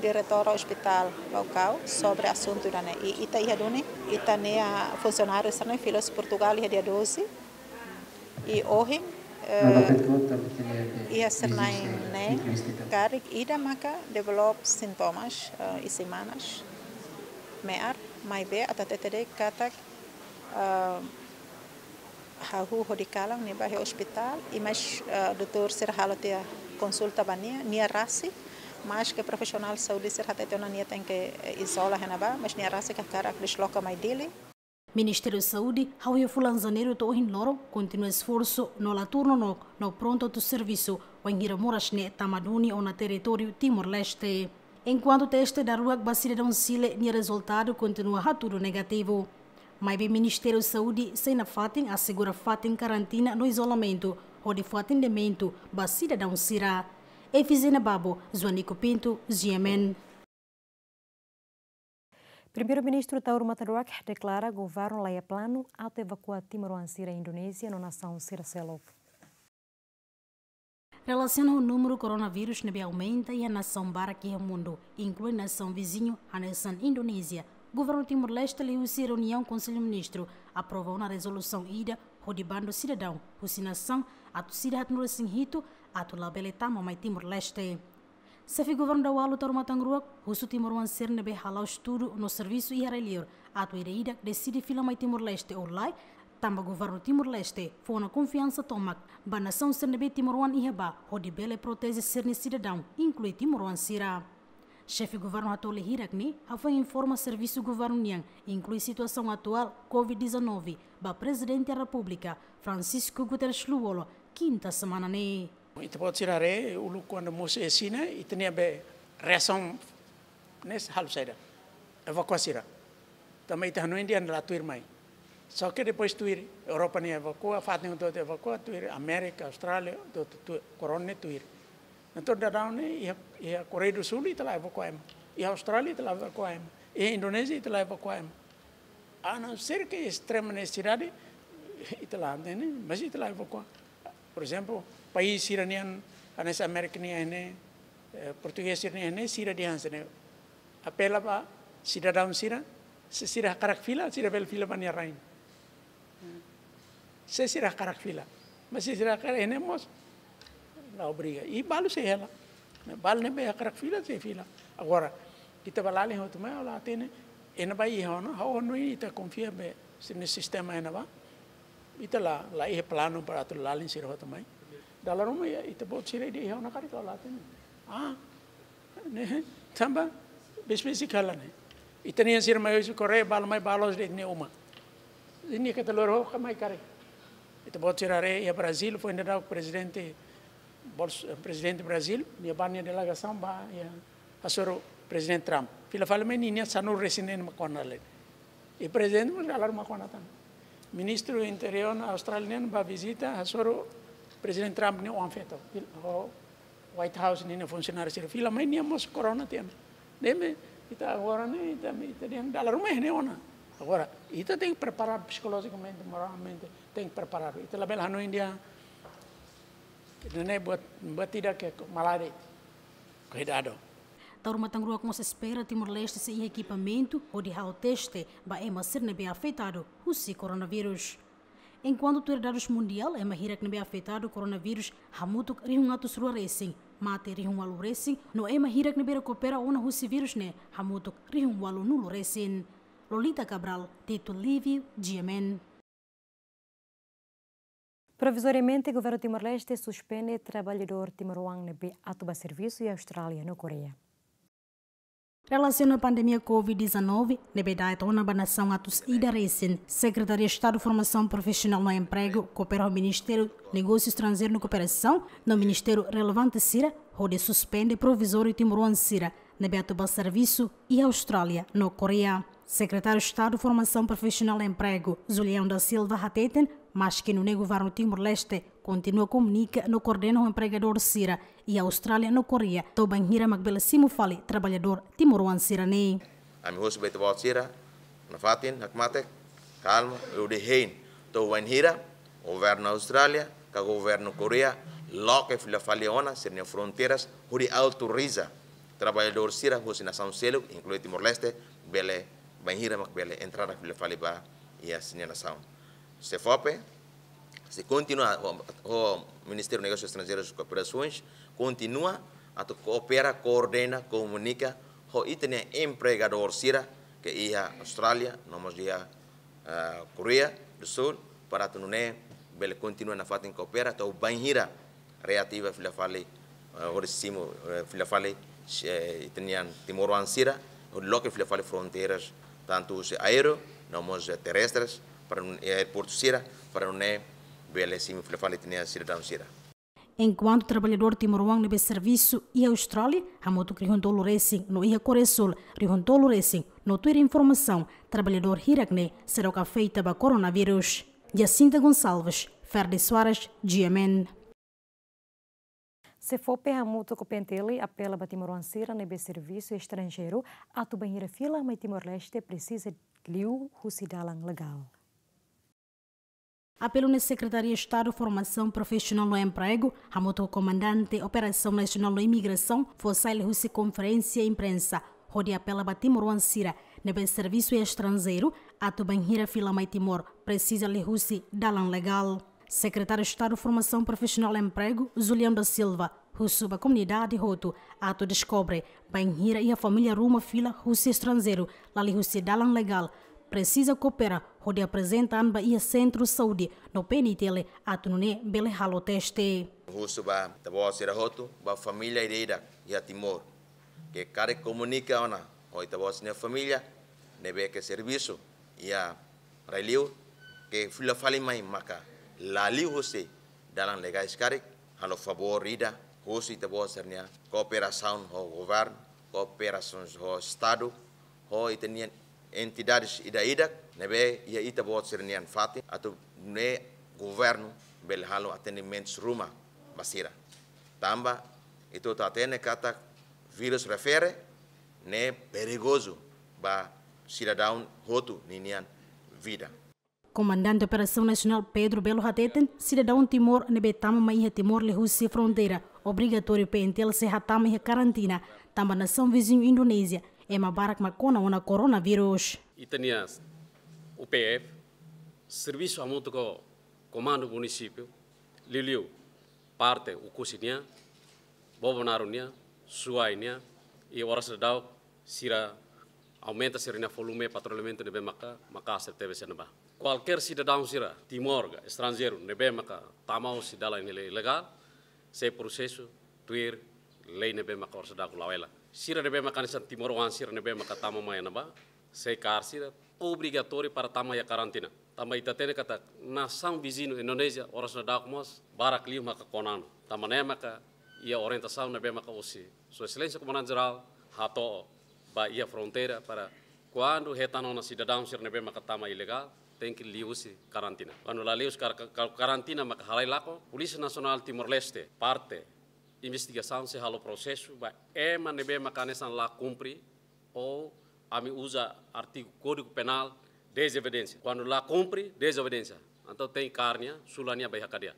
diretór Hospital Baucau sobre asuntu ida-ne'e. I ita iha duni, ita-nia funsionáriu sira-ne'e fila husi Portugal iha dia doze. I ohin, eh, iha sira na'in-neen, karik ida maka develop sintomas, eh, isin-manas, me'ar, maibé atu hatete de'it katak, eh, hahú hodi kalan nia bá iha ospitál, i mais, eh, doutór sira halo tiha konsulta ba nia, nia rasik, maske profisionál saúde sira hatete ona nia tenke, eh, izola iha ne'ebá, mais nia rasik hakarak desloka mai Dili. Ministériu Saúde, hahú iha fulan Janeiru to'o ohin loron, kontinua esforsu no la tuur nonook, no prontu atu servisu, wainhira moras ne'e tama duni ona territóriu Timor-Leste. Enkuantu teste daruak ba sidadaun Xile nia rezultadu kontinua hatudu negativu. Maibé Ministériu Saúde sei nafatin asegura fatin karantina no izolamentu, hodi fó atendimentu ba sidadaun sira. Efizena Babo, Joanico Pinto, G M N. Primeiru-Ministru Taur Matan Ruak deklara governu la iha planu atu evakua timoroan sira Indonézia no nasaun sira seluk. Relasiona ho númeru koronavírus ne'ebé aumenta iha nasaun barak iha mundu, inklui nasaun viziñu hanesan Indonézia, governu Timor-Leste liuhusi reuniaun Konsellu Ministru aprova ona rezolusaun ida hodi bandu sidadaun husi nasaun atus ida haatnulu-resin-hitu atu labele tama mai Timor-Leste. Xefe governu daualu Taur Matan Ruak husu timoroan sira ne'ebé hala'o estudu no servisu iha rai-liur atu ida-idak deside fila mai Timor-Leste ou lae, tanba governu Timor-Leste fó ona konfiansa tomak ba nasaun sira ne'ebé timoroan iha bá hodi bele proteje sira-nia sidadaun, inklui timoroan sira. Xefe governu hato'o lia hirak ne'e hafoin informa servisu governu nian, inklui situasaun atuál COVID dezanove, ba Prezidente Repúblika, Francisco Guterres Lú-Olo, kinta semana ne'e. Ita-boot sira haree, uluk kuandu mosu iha Xina, ita-nia be reasaun ne'e halo saida? Evakua sira. Tanba ita hanoin dehan la tuir mai. Só que depois tuir, Europa ne'e evakua, fatin hotu-hotu evakua, tuir Amérika, Austrália, hotu-hotu tuir, korona ne'e tuir. Entaun daudaun ne'e, iha, iha Koreia do Sul ita la evakua ema. Iha Austrália ita la evakua ema. Iha Indonézia ita la evakua ema. A não ser que extrema necessidade, ita la hatene, mas ita la evakua. Por exemplo, país sira nian, hanesan Amérika nian ne'e, eh, Portugés sira nian ne'e, sira dehan hanesan ne'e. Apela ba sidadaun sira, se sira hakarak fila, sira bele fila ba nia rain. Se sira hakarak fila. Mas se sira hakarak ne'e mós, la obriga. I balu sei hela. Balu ne'ebé hakarak fila, sei fila. Agora, Ita ba lalin hotu mai, ha'u la hatene, iha ne'ebá iha ona, ha'u hanoin ita konfia be sira-nia sistema iha ne'ebá. Ita la, la iha planu para atu lalin sira hotu mai. Dala ruma iha, ita-boot sira ida iha ona karik, ha'u la hatene. Ah, ne'e, tanba, besik-besik hela ne'e. Ita-nian sira mai husi Koreia, balu mai ba la'ós de'it nia uma. Nia keta loro ka mai karik. Ita-boot sira haree iha Brazil, foin daudauk prezidente Bols-, eh, prezidente Brazil, nia ba nia delegasaun ba, iha, hasoru Prezidente Trump. Fila fali mai ninia sanulu-resin-neen mak ona hela. I prezidente mós dala ruma mak ona tan. Ministru Interiór Austrália nian ba vizita, hasoru Prezidente Trump nia oan-feto. Fil-, ho White House ninia funsionáriu sira fila mai, nia mós korona tiha ona. Ne'ebé, ita agora ne'e, ita, ita dehan dala ruma iha ne'e ona. Agora, ita tenke preparadu psikolojikamente, moralmente, tenke preparadu. Ita labele hanoin dehan, ne'e buat, buat ida ke malaria. Kuidadu. Taur Matan Ruak mós espera Timor-Leste sei iha ekipamentu hodi halo teste ba ema sira ne'ebé afetadu husi koronavírus. Enkuantu tuir dadus mundiál, ema hirak ne'ebé afetadu koronavírus hamutuk rihun atus rua resin, mate rihun ualu resin, no ema hirak ne'ebé rekupera ona husi vírus ne'e hamutuk rihun ualunulu resin. Lolita Cabral, Tito Livio, G M N. Provizoriamente, Governu Timor-Leste suspende traballadór timoroan ne'ebé atu ba servisu iha Austrália no Koreia. Relasiona pandemia covid dezanove, ne'ebé da'et ona ba nasaun atus ida resin, Sekretaria Estadu Formasaun Profisionál no Empregu, koopera ho Ministériu Negósiu Estranjeiru no Kooperasaun, no ministériu relevante sira, hodi suspende provizóriu timoroan sira ne'ebé atu ba servisu iha Austrália no Koreia. Sekretáriu Estadu Formasaun Profisionál no Empregu, Julião da Silva, hateten, maski nune'e Governu Timor-Leste kontinua komunika no koordena ho empregadór sira iha Austrália no Koreia, to'o bainhira mak bele simu fali traballadór timoroan sira-ne'e. Ami husu ba ita-boot sira, nafatin, hakmatek, kalma, hodi hein, to'o bainhira Governu Austrália ka Governu Koreia loke fila fali ona sira-nia fronteiras, hodi autoriza traballadór sira husi nasaun seluk, inklui Timor-Leste, bele, bainhira mak bele entrada fila fali ba iha sira-nia nasaun. SEFOPE, sei kontinua ho, ho Ministériu Negósius Estranjeirus no Kooperasaun, kontinua atu koopera, koordena, komunika ho ita-nia empregadór sira ke iha Austrália, no mós iha, ah, Koreia do Sul, para atu nune'e bele kontinua nafatin koopera, to'o bainhira reativa fila fali, eh, hodi simu, eh, fila fali, eh, ita-nian timoroan sira, hodi loke fila fali fronteiras, tantu husi aéreu, no mós, eh, terrestres, para nun-, eh, aeroportu sira, para nune'e bele simu fila fali ita-nia sidadaun sira. Enkuantu traballadór timoroan ne'ebé servisu iha Austrália, hamutuk rihun tolu resin, no iha Koreia Súl, rihun tolu resin, no tuir informasaun, traballadór hirak-ne'e seidauk afeta ba koronavírus. Jacinta Gonçalves, Ferdi Soares, G M N. SEFOPE hamutuk ho P N T L apela ba timoroan sira ne'ebé servisu estranjeiru atu bainhira fila mai Timor-Leste presiza liu husi dalan legál. Apelu ne'e Sekretaria Estadu Formasaun Profisionál no Empregu, hamutuk ho Komandante Operasaun Nasionál no Imigrasaun, fó sai liuhusi konferénsia imprensa, hodi apela ba timoroan sira ne'ebé servisu iha estranjeiru, atu bainhira fila mai Timor, presiza liuhusi dalan legál. Sekretáriu Estadu Formasaun Profisionál no Empregu, Julião da Silva, husu ba komunidade hotu atu deskobre bainhira iha família ruma fila husi estranjeiru la liuhusi dalan legál, presiza koopera hodi aprezenta an ba iha sentru saúde no P N T L atu nune'e bele halo teste. Husu ba ita-boot sira hotu, ba família ida-idak iha Timor, ke karik komunika ona ho ita-boot sira-nia família ne'ebé ke servisu iha rai-liur, ke fila fali mai maka la liuhusi dalan legais karik, halo favór ida, husu ita-boot sira-nia kooperasaun ho governu, kooperasaun ho Estadu, ho ita-nia entidades ida-idak ne'ebé iha ita-boot sira-nia fatin, atu nune'e governu bele halo atendimentus ruma ba sira. Tanba ita hotu hatene katak vírus refere ne'e perigozu ba sidadaun hotu ninia vida. Komandante Operasaun Nasionál Pedro Belo hateten, sidadaun Timor ne'ebé tama mai iha Timor liuhusi fronteira, obrigatóriu P N T L sei hatama iha karantina, tanba nasaun viziñu Indonézia ema barak mak kona ona koronavírus. Ita-nia U P F, servisu hamutuk ho Komandu Munisípiu, liuliu parte Oekusi nian, Bobonaro nian, Suai nian, i oras daudaun Sira aumenta sira-nia volume patrullamentu ne'ebé maka, maka aser tebes iha ne'ebá. Kualkér sidadaun sira, Timor ka estranjeiru, ne'ebé maka tama husi dalan ilegál, sei prosesu tuir lei ne'ebé maka oras daudauk la'o hela. Sira ne'ebé maka hanesan timoroan sira ne'ebé maka tama mai iha ne'ebá, sei kaer sira obrigatóriu para tama iha karantina. Tanba ita hatene katak nasaun viziñu Indonézia oras daudauk mós barak liu maka kona ona. Tanba ne'e maka iha orientasaun ne'ebé maka husi Sua Exelénsia Komandante Jerál hato'o ba iha fronteira para kuandu hetan ona sidadaun sira ne'ebé maka tama ilegál, tenke liuhusi karantina. Kuandu la liuhusi kar-, kar-, karantina maka halai lakon, Polísia Nasionál Timor-Leste, parte investigasaun sei halo prosesu ba ema ne'ebé maka hanesan la kumpre ou ami uza artigu Kódigu Penál dezobesidénsia. Kuandu la kumpre, dezobesidénsia. Entaun tenke kaer nia, sula nia ba iha kadeia.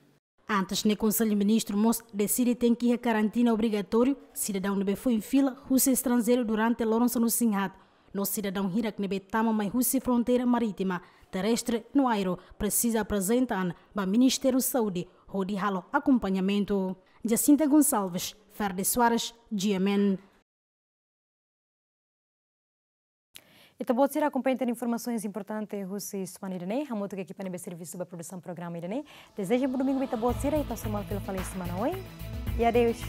Antes ne'e Konsellu Ministru mós deside tenke iha karantina obrigatóriu sidadaun ne'ebé foin fila husi estranjeiru durante loron sanulu-resin-haat. No sidadaun hirak ne'ebé tama mai husi fronteira marítima, terrestre no aéreu presiza aprezenta an ba Ministériu Saúde hodi halo akompañamentu. Jacinta Gonçalves, Ferdi Soares, G M N. Ita-boot sira akompaña tan informasaun importante husi semana ida-ne'e, hamutuk ho ekipa ne'ebé servisu ba produsaun programa ida-ne'e. Dezeja bom domingu ba ita-boot sira, ita hasoru malu fila fali semana oin. E adeus.